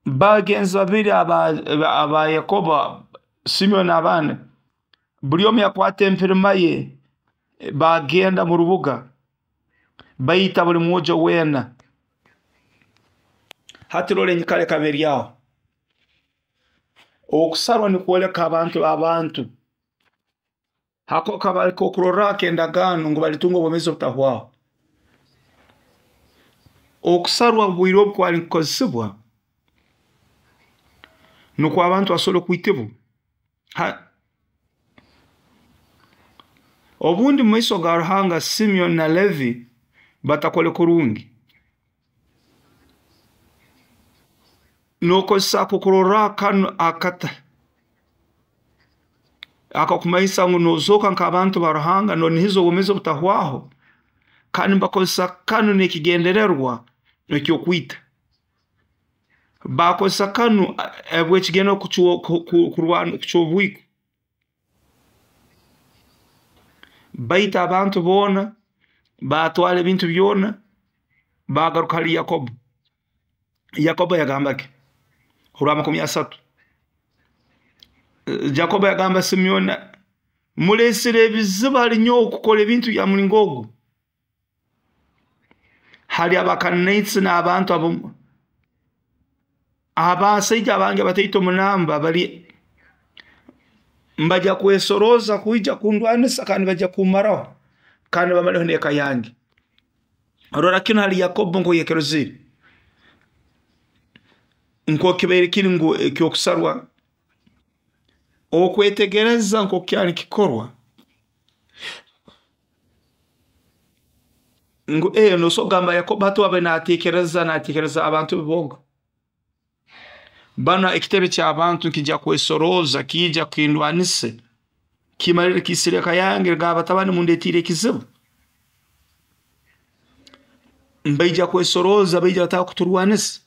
Bagenzi babiri aba Yakobo, Simeoni n'abandi, buli omu yakwata empirima ye, bagenda mu rubuga, baita buli mwojo weena. Hati rora enyikara ekaba eri aho. Okusarwa nikwoleka abantu b'abantu. Hako kaba kokurorraho ak'endagaano ngu balitunga obwomeezi obutahwaho. Okusarwa obwire obu kwali nikukozesebwa nukwo abantu basobole kwitibwa. Obundi mu maiso ga Ruhanga, Simeoni na Levi batakole kurungi. Nokozesa akokurorraho kanu akata akakumanyisa ngu nozooka nk'abantu ba Ruhanga, nonihiza obwomeezi obutahwaho, kandi nibakozesa kanu n'ekigendererwa eky'okwita. Bakozesa kanu habw'ekigendererwa kurwana kucwa obwiko. Baita abantu boona, baatwara ebintu byona, baagaruka hali Yakobo. Yakobo yagamba ki? Orwa 30. Yakobo yagamba Simeoni, mulesire ebizibu hali nyowe kukora ebintu bya mulingo ogu. Hali Abakananites n'abantu abasaija abange bataito munamba bali mbajja kwesoroza kwija kundwanisa kandi bajja kumaraho kandi bamaleho n'eka yange. Rora kinu hali Yakobo nko yakirozere nko kibaire kiri ngu ekyokusarwa okwetegereza nko kyali kikorwa ngu nosobora kugamba Yakobo hati abe natekereza abantu be bonka. Banu ekitebe ky'abantu nikijja kwesoroza kiija kindwanise kimalire kiisire eka yange, ga batabani mundetiire ekizibu. Mbaija kwesoroza baija bataka kuturwanisa.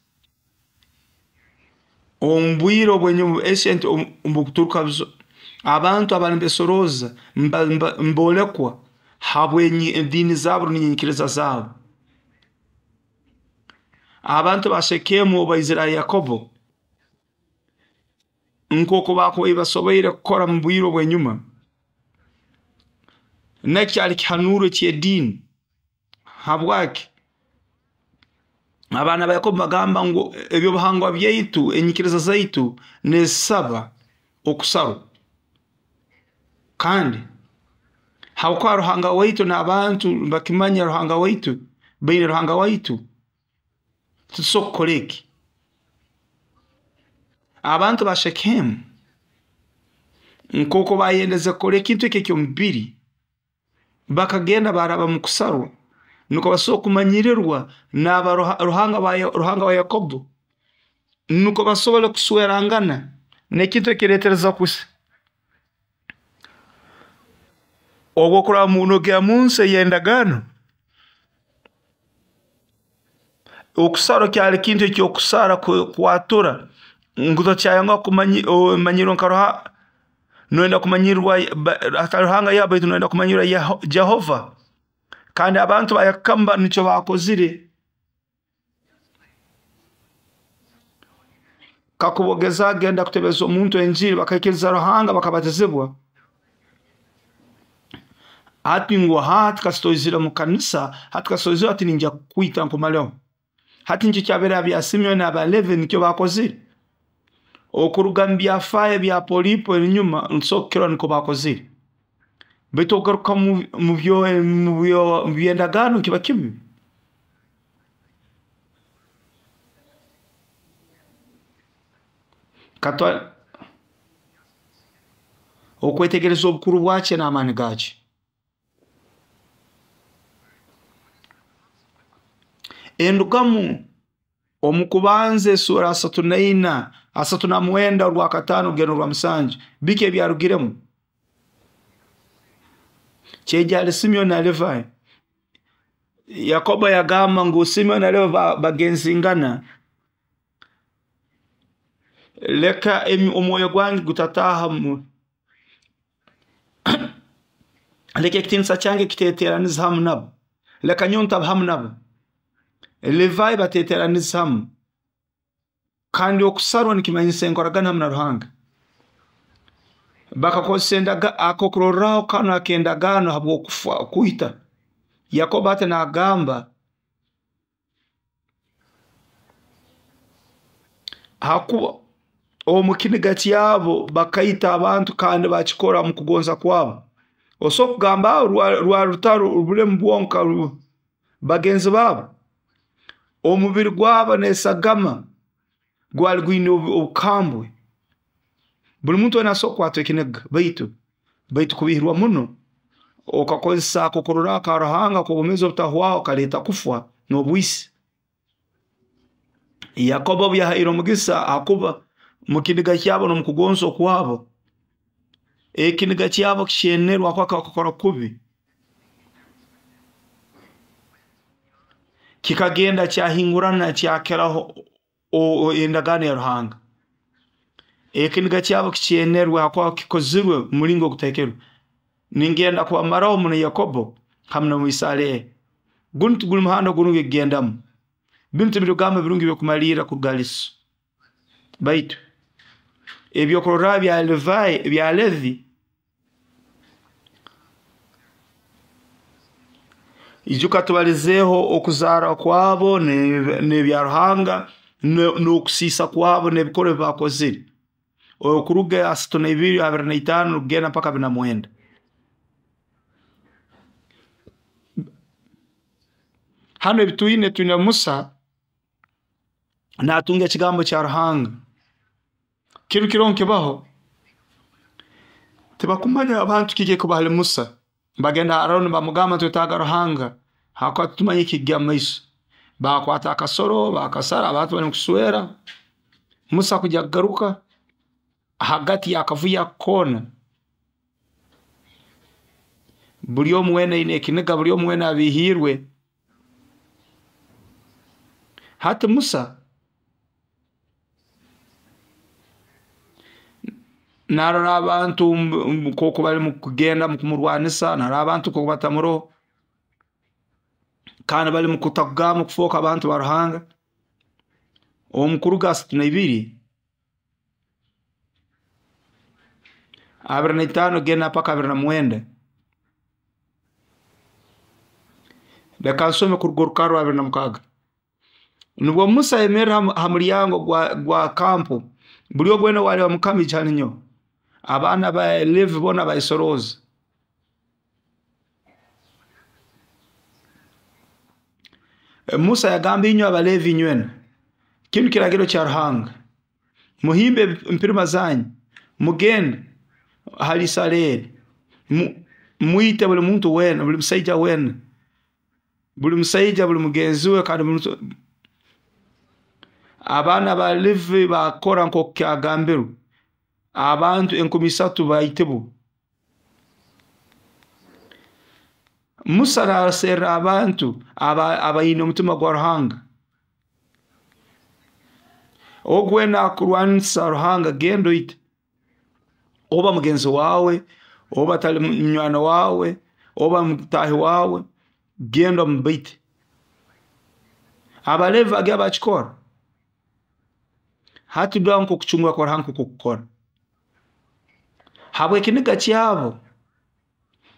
Omu bwire obwenyuma esente obukuturuka abantu abali nibesoroza mbolekwa habw'ediini zaabo n'enyikiriza zaabo. Abantu ba Shekemu obu baizire hali Yakobo nk'oku bakubaire basoboire kukora mu bwire obw'enyuma, nakyo kyali kihanuro eky'ediini. Habwaki? Abaana ba Yakobo bagamba ngu ebyobuhangwa byaitu, enyikiriza zaitu nizisaba okusarwa. Kandi habwokuba Ruhanga waitu n'abantu bakimanya Ruhanga waitu, baine Ruhanga waitu, titusobora kukora eki. Abantu ba Shekemu nk'oku bayendeze kukora ekintu eki eky'omubiri, bakagenda baraba mu kusarwa nukwo basobole kumanyirirwa n'aba Ruhanga wa Yakobo, nukwo basobole kuswerangana n'ekintu ekiretereza kusa. Obu okuraba nogenda munsi ey'endagaano, okusarwa kyali kintu ekyokusara kwatura ngu tokyayanguha kumanyirwa nka Ruhanga, noyenda kumanyirwa atali Ruhanga Yahwe baitu noyenda kumanyirwa Jehova. Kandi abantu ba Yakamba nikyo bakozire. Kakuba ogeza genda kutebeza omuntu enjiri bakaikiriza Ruhanga bakabatizibwa, hati ngu hati kasita oizire mu kanisa, hati kasita oizire hati ninjya kukwita nkumaleho. Hati nikyo kyabaire bya Simeoni n'aba Levi nikyo bakozire. Okuruga mu byafaayo bya Polipo enyuma nitusobora kukirora nikwo bakozire. Baitu ogaruka mu by'endagaano kiba kibi. Katwa okwetegereza obukuru bwakyo n'amaani gakyo. Endugamu omu kubanza esura 34, 39 orwa 5 kugenda orwa 7, biki ebyarugiremu? Kyaija hali Simeoni na Levi. Yakobo yagamba ngu Simeoni na Levi bagenzingana, leka omwoyo gwange gutataha leka ekitinisa kyange kiteteraniza hamu nabo, leka nyowe ntaba hamu nabo. Levi bateteraniza hamu. Kandi okusarwa nikimanyisa enkoragana hamu na Ruhanga. Bakakozesa akokurorraho kanu ak'endagaano habw'okufa kwita. Yakobo ati nagamba hakuba omu kiniga kyabo bakaita abantu kandi bakikora omu kugonza kwabo. Osobola kugamba rwa rutaro obulemu bwonka bagenzi babo. Omubiri gwabo n'esagama gwali gwine obukambwe. Buli muntu weena asobora kukwatwa ekiniga baitu kubihirwa muno okakozesa akokurorraho ka Ruhanga ak'obwomeezi obutahwaho kaleeta kufa n'obwisi. Yakobo obu yahaire omugisa hakuba mu kiniga kyabo n'omukugonza okwabo, ekiniga kyabo kikyenerwa habwokuba bakakora kubi. Kikagenda kyahingurana kyakiraho endagaano ya Ruhanga. Ekiniga kyabo kikyenerwe habwokuba kikozirwe mu mulingo ogutahikire. Ningenda kubamaraho muno Yakobo hamu n'omu Isaleeri. Gunu tiguli muhanda gurungi kugendamu. Binu tibiri bigambo birungi by'okumalirra kuruga hali 'so. Baitu ebyokurorraho bya Levi, ijuka tubalizeeho okuzaarwa kwabo n'ebya Ruhanga n'okusiisa kwabo n'ebikorwa ebi baakozire. Okuruga 32, 25 kugenda mpaka 49. Hanu ebi twine Musa naatunga ekigambo kya Ruhanga. Kinu kiro nkibaho, tibakumanya abantu kiki ekikuba hali Musa. Bagenda Aroni bamugamba nitwetaaga Ruhanga, habwokuba titumanyire ekikugenda mumaiso. Bakwata akasoro bakasara, abantu bali mukuswera, Musa kujya kugaruka hagati y'akavuyo ako koona, buli omu weena aine ekiniga, buli omu weena abiihiirwe. Hati Musa naarora abantu nkooku bali kugenda kumurwanisa, naarora abantu nkooku batamuroho, kandi bali mukutakugamba kufooka abantu ba Ruhanga. Omu Kuruga 32, 25 kugenda mpaka 29. Leka nsome kuruga orukarra rwa 26. Nubwo Musa ayemerra ha mulyango gwa kampu, buli ogu weena ow'aliba Mukama aije hali nyowe. Abaana ba Levi boona bayesorooza. Musa yagamba, inywe Abalevi inywena, kinu kiragiro kya Ruhanga. Muhimbe empirima zanyu, mugende hali Isaleeri, mwite buli muntu weena, buli musaija weena, buli musaija buli mugenzi we kandi abaana ba Levi baakora nkooku kyagambirwe, abantu 3000 baitibwa. Musa naaserra abantu abaine omutima gwa Ruhanga. Ogu weena akurwanisa Ruhanga, genda oite. Oba mugenzi waawe, oba atali munywani waawe, oba mutaahi waawe, genda omubaite. Abalevi bagenda bakikora. Hati dora nk'okucungura kwa Ruhanga nk'oku kukora. Habw'ekiniga kyabo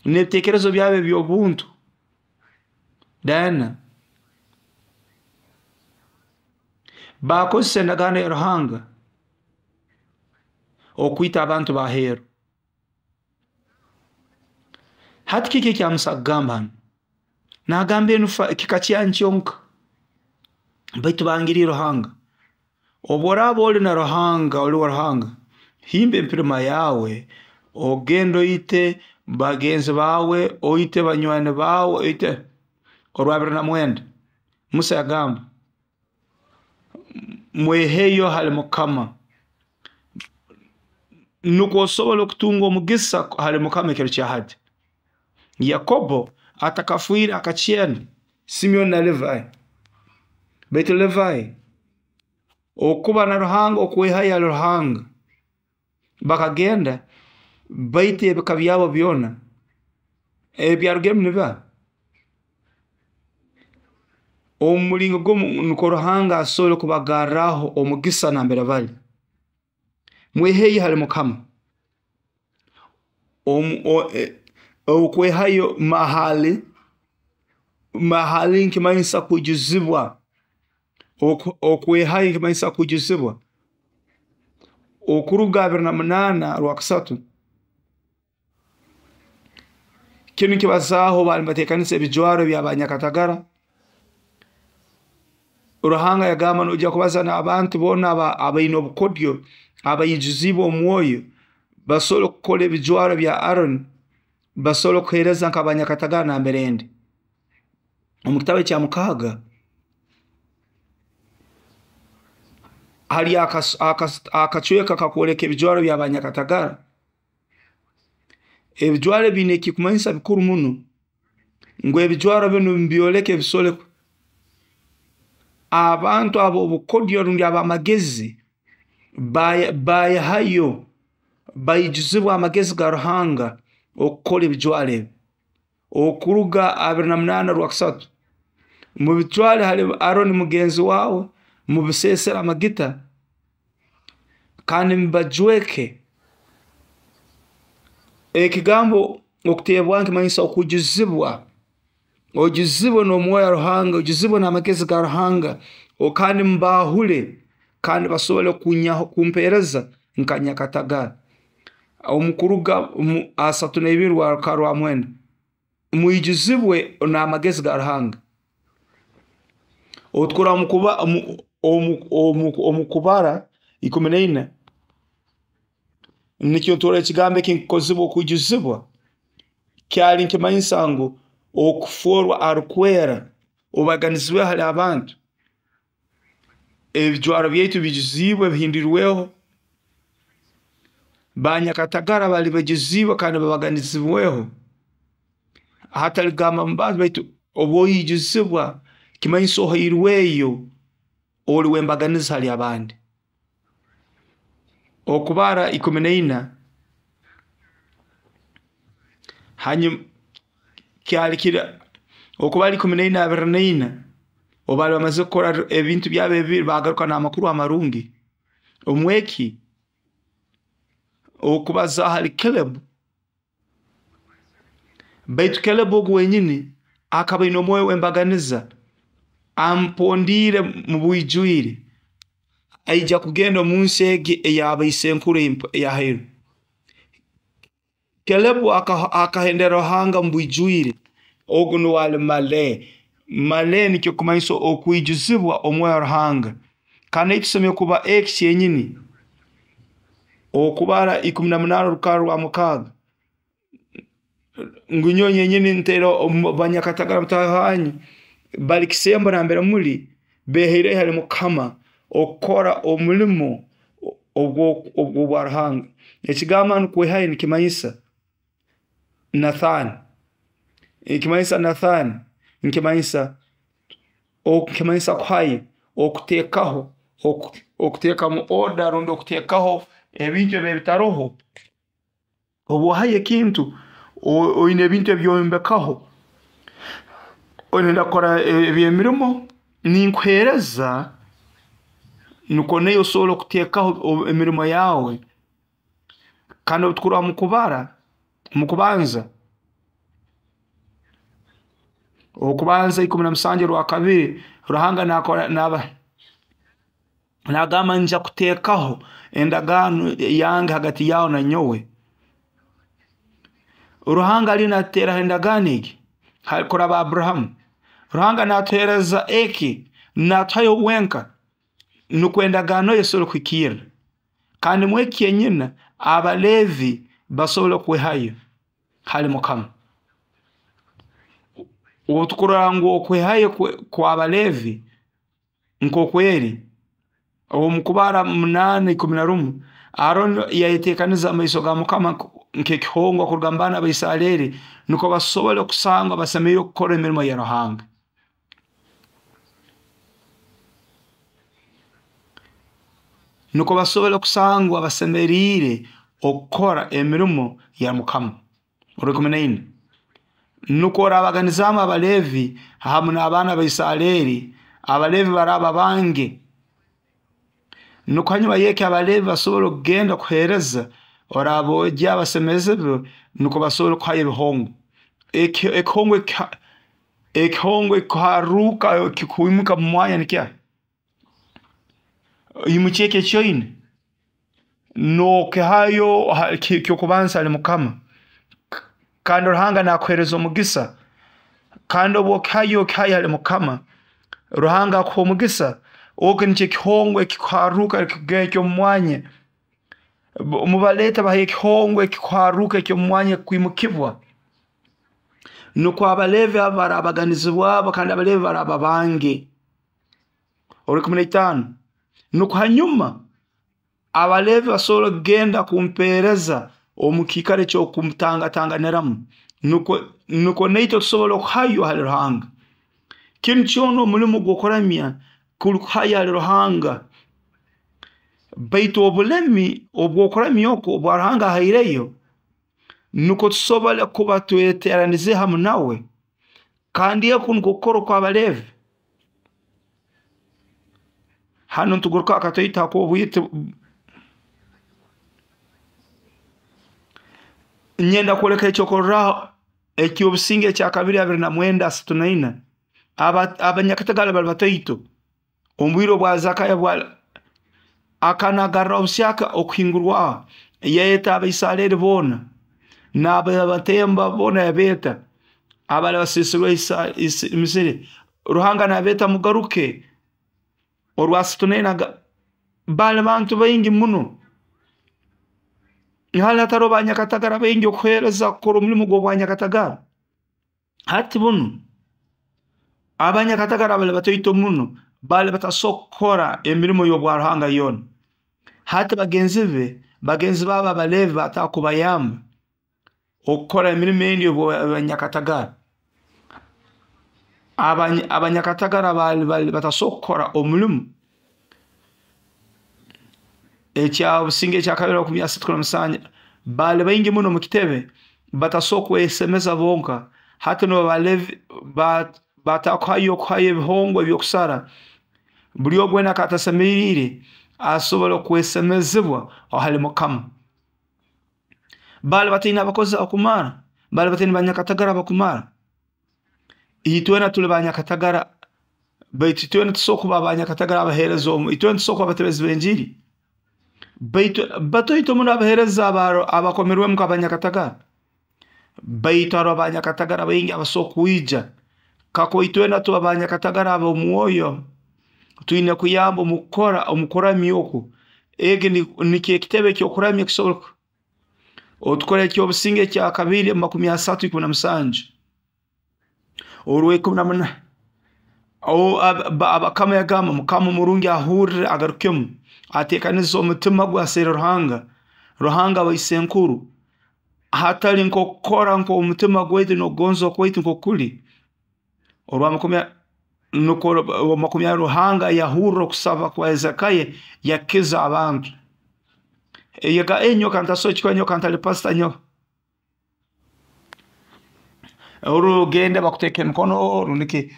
n'ebiteekerezo byabo eby'obuntu, then baakozesa endagaano ya Ruhanga okwita abantu b'aheeru. Hati kiki ekya Musa akugamba hanu? Naagamba enu kika kyanyu kyonka, baitu bangiriire Ruhanga. Obu oraaba oli na Ruhanga, oli wa Ruhanga, himba empirima yaawe, ogende oite bagenzi baawe, oite banywani baawe, oite orwa 29. Musa yagamba, mweheyo hali Mukama, nukwo osobole okutunga omugisa hali Mukama ekiro kya hati. Yakobo atakafiire akakyena Simeoni na Levi. Baitu Levi, okuba na Ruhanga, okwehayo hali Ruhanga, bakagenda baita ebika byabo byona. Ebyarugiremu nibiha? Omu mulingo gumu nukwo Ruhanga asobole kubagarraho omugisa nambere bali. Mweheyo hali Mukama. Okwehayo mahali, mahali nikimanyisa kwijuzibwa. Okwehayo nikimanyisa kwijuzibwa. Okuruga 28 Rwakusatu, kinu nikibazaaho baali nibateekaniza ebijwaro by'abanyakatagara. Ruhanga yagamba noija kubaza n'abantu boona abaine obukodyo, abaijuziibwe omwoyo, basobole kukora ebijwaro bya Aroni, basobole kuheereza nk'abanyakatagara nambere ndi. Omu kitabu ekya mukaaga, hali akacweka kakwoleka ebijwaro by'abanyakatagara. Ebijwaro biine ekikumanyisa bikuru muno, ngu ebijwaro binu nibyoleka ebisobole abantu ab'obukodyo rundi ab'amagezi bayehayo, baijuzibwa amagezi ga Ruhanga. Okukora ebijwaro ebi. Okuruga 28 rwakasatu, mubitwale hali Aroni mugenzi wawe, mubisesere amagita, kandi mubajweke. Ekigambo okutebwaho nikimanyisa okwijuzibwa, oijuzibwe n'omwoyo wa Ruhanga, oijuzibwe n'amagezi ga Ruhanga, kandi mubaahule, kandi basobole kumpereza nka nyakatagara. Omukuruga 32 rwa 9, mwijuzibwe n'amagezi ga Ruhanga. Obu tukurora omu Kubara 14, nikyo turora ekigambo eki nikukozibwa okwijuzibwa, kyali nikimanyisa ngu okufworwa arukwera, obaganizibweho hali abantu. Ebijwaro byaitu bijuziibwe, bihindwirweho, banyakatagara bali bajuziibwe kandi babaganizibweho, hatali kugamba mu bantu, baitu obu oijuzibwa, kimanyisa ohairweyo, oli w'embaganiza hali abandi. Okubara 14, hanyuma kyali kiri Okubara 14, 24, obu baali bamazire kukora ebintu byabo ebibi, bagaruka n'amakuru amarungi. Omweki okubaza hali Caleb, baitu Caleb ogu wenyini akaba aine omwoyo w'embaganiza, ampondiire mu bwijwire, aija kugenda omu nsi egi ey'abaisenkuru eyahairwe. Caleb akahendera Ruhanga mu bwijwire, ogu nuwe ali male. Male nikyo kumanyisa okwijuzibwa omwoyo wa Ruhanga. Kandi naitwe tusemeriire kuba eki kyenyini. Okubara 18 rukarra rwa 6, ngu nyowe nyenyini ntereho banyakatagara mutahi wanyu, bali kisembo nambere muli, behaireyo hali Mukama okukora omulimo ogw'obwa Ruhanga. Ekigambo hanu kwehayo nikimanyisa Nathan, nikimanyisa Nathan, nikimanyisa kuhayo, okutekaho, okutekamu order rundi okutekaho ebintu ebi ebitaroho. Obu ohayo ekintu, oine ebintu ebyombekaho, oyenda kukora eby'emirimo, ninkuhereza nukwo naiwe osobole okutekaho emirimo yawe. Kandi obu tukurora mukubara, mukubanza, Okubanza 17 rwakabiri, Ruhanga nakora naba nagamba nja kutekaho endagaano yange hagati yawe na nyowe. Ruhanga ali natuteraho endagaano egi kuraba Abrahamu. Ruhanga natuhereza eki, natuhayo wenka nukwo endagaano ye esobole kuhikirra. Kandi mweki kyenyina Abalevi basobole kwehayo hali Mukama. Obu tukurora ngu okwehayo kw'Abalevi nk'okweri, omu Kubara 8:11, Aroni yayetekaniza amaiso ga Mukama nk'ekihongwa kuruga mu baana ba Isareri, nukwo basobole kusangwa basemeriire kukora emirimo ya Ruhanga. Nukwo basobole kusangwa basemeriire okukora emirimo ya Mukama. Orwikumi naina, nukwo orabaganizaamu Abalevi hamu n'abaana ba Isareri, Abalevi baraba bange. Nukwo hanyuma y'eki Abalevi basobole kugenda kuhereza, orabogya basemezebwe, nukwo basobole kuhayo ebihongwa. Ekihongwa ekikuharuka kikwimuka mu mwanya nikya imukya eki ekyoine nokihayo kyokubanza hali Mukama, kandi Ruhanga nakuhereza omugisa. Kandi obu okihayo, okihayo hali Mukama, Ruhanga akuha omugisa. Oku nikyo ekihongwa ekikuharuka eky'omu mwanya. Mubaleta bahayo ekihongwa ekikuharuka eky'omu mwanya ekikwimukibwa, nukwo Abalevi abo barabaganizibwabo, kandi Abalevi baraba bange. Orwikumi naitano, nukwo hanyuma Abalevi basobole kugenda kumpereza omu kiikaro eky'okutangatanganiramu, nukwo naitwe tusobole okuhayo hali Ruhanga. Kinu kyona omulimo gw'okuramya kuli kuhayo hali Ruhanga, baitu obulemi obw'okuramya oku obwa Ruhanga ahaireyo. Nukwo tusobole kuba tweteranize hamu nawe. Kandi oku nukwo kukora okw'Abaleevi. Hanu ntuguruka akatoito hak'obwite. Nyenda kwoleka ekyokurorraho eky'obusinge ekyakabiri 29 34. Abanyakatagara bali bataito omu bwire obwa Zakayo akanagarraho buhyaka Okuhingurwaho, yayeta Abaisareri boona n'abatemba boona, yabeeta abali basiisirwe Misiri. Ruhanga nabeeta mugaruke. Orwa 34 bali bantu baingi muno. Hali hataro banyakatagara baingi okuheereza kukora omulimu gw'obwanyakatagara. Hati bunu abanyakatagara bali bataito muno, bali batasobora kukora emirimo y'obwa Ruhanga yoona. Hati bagenzi babo Abaleevi bataaha kubayamba okukora emirimo endi y'obwanyakatagara. Abanyakatagara bali batasobora kukora omulimu. Ekya businge ekyakabiri 37 bali baingi muno omu kitebe, batasobora kwesemeza bonka. Hati nubo Abaleevi batakuhayo okuhayo ebihongwa ebyokusara. Buli ogu wena akatasemeriire asobole kwesemezibwa hali Mukama. Bali bataine abakozi abakumara, bali bataine banyakatagara abakumara. Itwena tuli banyakatagara, baitu itwena tusobora kuba banyakatagara abaheereza omu, itwena tusobora kuba abatebezi b'enjiri. Baitu bataito muno abaheereza abakomerwemu nk'abanyakatagara. Baitu haroho abanyakatagara baingi abasobora kwija. Kakuba itwena tuba banyakatagara ab'omwoyo, twine kuyamba omu kukora omu kuramya oku. Egi nikyo ekitebe eky'okuramya kisobora otukora eky'obusinge ekyakabiri 30 17 orw'ikumi na munaana. Abakama yagamba Mukama omurungi ahurre agarukemu ateekanize omutima gwe aseere Ruhanga, Ruhanga wa isenkuru, hatali nk'okukora nk'omutima gwaitu n'okugonza kwaitu nk'okuli. Orwa makumi nukwo makumi Ruhanga yahurra okusaba kwa Hezekiah, yakiza abantu. Ega enyoka ntasobola kikora, nyoka ntali pastor nyowe. Orugenda bakuteeka emikono rundiki.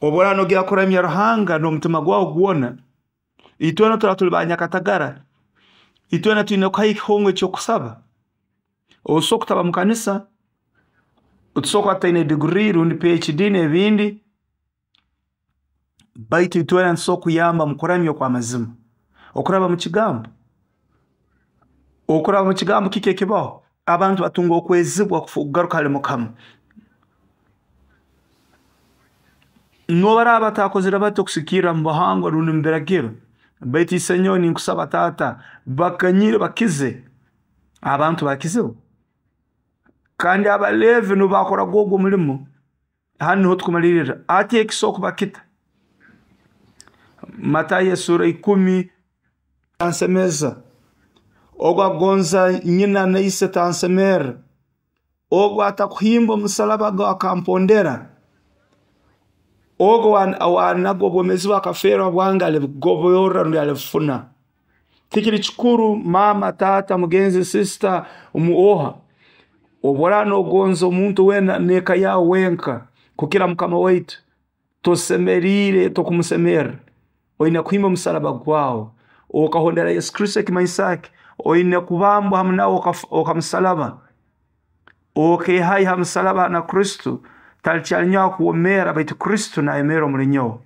Obworaaba nogenda kuramya Ruhanga n'omutima gwawe gwona, itwena turaba tuli banyakatagara, itwena twine kuhayo ekihongwa ekyokusaba. Osobola kutaba mu kanisa, tusobora kuba tutaine degree rundi PhD n'ebindi, baitu itwena nitusobora kuyamba omu kuramya okw'amazima. Okuraba mu kigambo. Okuraba mu kigambo kiki ekibaho? Abantu batunga okwezibwa kugaruka hali Mukama. N'obu batakozere bati okusigikirra mu buhangwa rundi mu biragiro, baitu isenyowe ninkusaba taata, bakanyire bakize, abantu bakizibwa. Kandi Abaleevi nibo bakoraga ogwo omulimo. Hanu niho tukumalirira. Ati ekisobora kuba kita? Matayo esura 10 tansemeza. Ogu agonza nyina na ise tansemerra. Ogu atakuhimba omusalaba gwe akampondera. Ogu owanaga obwomeezi bwe akafeerwa bwange alibugoborra rundi alibufuna. Tikiri kikuru maama, taata, mugenzi, sister, oha. Obworaaba nogonza omuntu weena n'eka yaawe wenka kukira Mukama waitu, tosemeriire, tokumusemerra. Oine kuhimba omusalaba gwawe okahondera Yesu Kristo. Ekimanyisa ki? Oine kubambwa hamu nawe okamusalaba, okehayo ha musalaba na Kristo. Talikyali nyowe akwomera, baitu Kristo nayemerra omuli nyowe.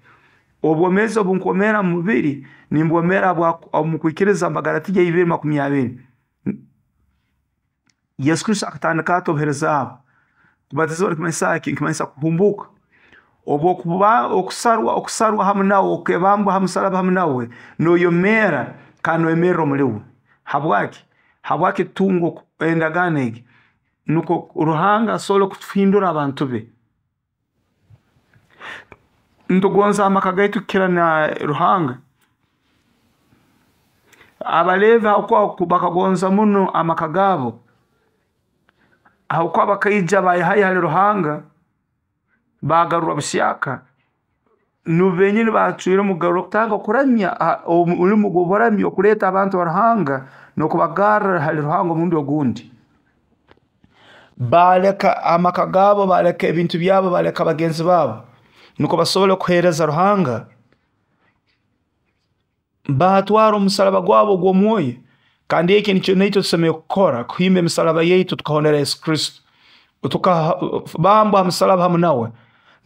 Obwomeezi obu nkwomera mu mubiri, nimbwomera omu kwikiriza. Bagalatiya 2:20. Yesu Kristo akatandika ata obuheereza bwe? Kubatizibwa nikimanyisa ki? Nikimanyisa kuhumbuuka. Obwokuba okusarwa hamu nawe, okebambwa ha musalaba hamu nawe, noyomeera kandi noyemerra omuli we. Habwaki? Habwaki tutunga endagaano egi? Nukwo Ruhanga asobole kutuhindura abantu be. Nitugonza amaka gaitu kukira na Ruhanga. Abaleevi habwokuba bakagonza muno amaka gaabo, habwokuba bakaija bayehayo hali Ruhanga, bagarurwa buhyaka. Nubo benyini bacwiremu kutandika kuramya, omulimu gw'oburamya, okuleeta abantu ha Ruhanga n'okubagarra hali Ruhanga omurundi ogundi. Baaleka amaka gaabo, baaleka ebintu byabo, baaleka bagenzi baabo, nukwo basobole kuheereza Ruhanga. Baatwara omusaraba gwabo ogw'omwoyo, kandi eki nikyo naitwe tusemeriire kukora, kuhimba emisaraba yaitu tukahondera Yesu Kristo. Tukabambwa ha musaraba hamu nawe,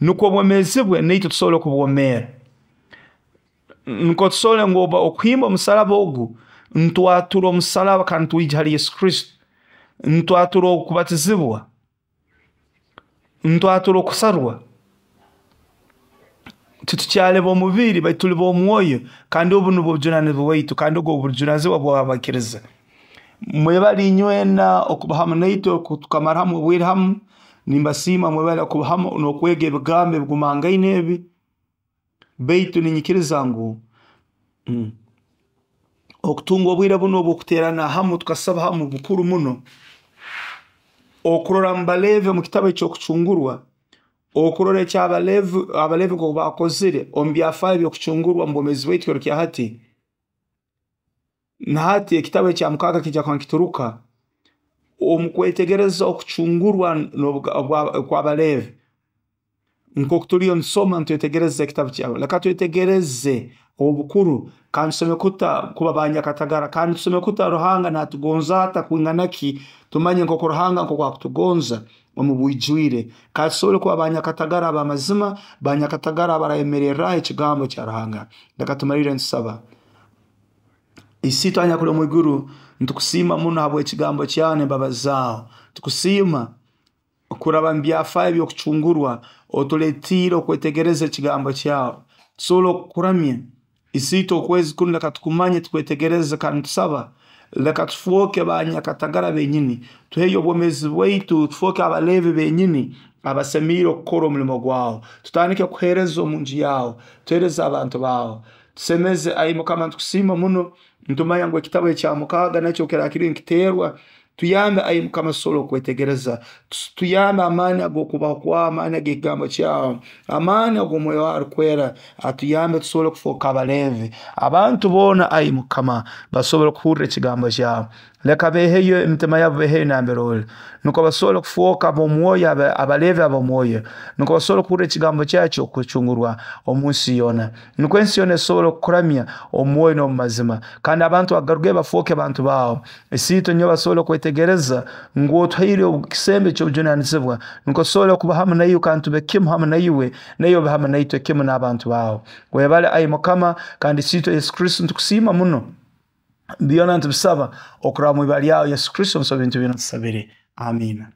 nukwo obwomeezi bwe naitwe tusobole kubwomeera. Nukwo tusobole ngu okuhimba omusaraba ogu, nitwatura omusaraba kandi nitwija hali Yesu Kristo, nitwatura okubatizibwa, nitwatura okusarwa, titukyali b'omubiri baitu tuli b'omwoyo, kandi obu nubwo obujunanizibwa bwaitu, kandi obu bujunanizibwa bw'abaikiriza. Mwebale inywena okuba hamu naitwe tukamara hamu obwire hamu, nimbasiima mwebale kuba hamu n'okwega ebigambo ebigumangaine ebi, baitu ninyikiriza ngu okutunga obwire bunu obw'okuteerana hamu tukasaba hamu bukuru muno. Okurora omu Baleevi omu kitabu eky'okucungurwa, okurora eky'Abaleevi, Abaleevi nkoku baakozire omu byafaayo by'okucungurwa omu bwomeezi bwaitu kiro kya hati, na hati ekitabu ekya mukaaga kiija kuba nikituruka, omu kwetegereza okucungurwa okw'Abaleevi, nkoku tuliyo nitusoma nitwetegereza ekitabu kyabo, leka twetegereze obukuru kandi tusemeriire kuta kuba banyakatagara, kandi tusemeriire kuta Ruhanga naatugonza ata kwingana ki, tumanye nkoku Ruhanga nkoku akutugonza omu bwijwire, kandi tusobole kuba banyakatagara ab'amazima, banyakatagara abarayemererraho ekigambo kya Ruhanga. Leka tumalirre nitusaba. Isiitwe anyakuli omwiguru, nitukusiima muno habw'ekigambo kyawe n'embabazi zaawe. Tukusiima kuraba mu byafaayo eby'okucungurwa, otuleetiire okwetegereza ekigambo kyawe, tusobole okukuramya. Isiitwe okwezi kunu leka tukumanye tukwetegereze kandi nitusaba leka tufooke banyakatagara benyini, tuheyo obwomeezi bwaitu, tufooke Abaleevi benyini abasemiire okukora omulimo gwawe, tutandike kuheereza omunju yaawe, tuheereze abantu baawe, tusemeze ai Mukama nitukusiima muno, nitumanya ngu ekitabu ekya mukaaga nakyo obu kiraaba kiriyo nikiteerwa, tuyambe ai Mukama tusobole okwetegereza, tuyambe amaani ag'okubaho kwawe, amaani ag'ekigambo kyawe, amaani ag'omwoyo waawe arukwera atuyambe tusobole kufooka Abaleevi. Abantu boona ai Mukama basobole kuhurra ekigambo kyawe. Leka beeheyo emitima yabo, beeheyo nambere oli, nukwo basobole kufooka ab'omwoyo, Abaleevi ab'omwoyo, nukwo basobole kuhurra ekigambo kyawe eky'okucungurwa omunsi yoona. Nukwo ensi yoona esobole kukuramya omu mwoyo n'omu mazima, kandi abantu bagarukeyo bafooke bantu baawe. Isiitwe nyowe basobole kwetegereza ngu otuhaire ekisembo eky'obujunanizibwa, nukwo tusobole kuba hamu naiwe kandi tube kimu hamu naiwe, naiwe obe hamu naitwe kimu n'abantu baawe. Webale ai Mukama, kandi Isiitwe Yesu Kristo nitukusiima muno. Byona nitubisaba okuraba mu ibara lyawe Yesu Kristo, nsaba ebintu byona tusabire. Amiina.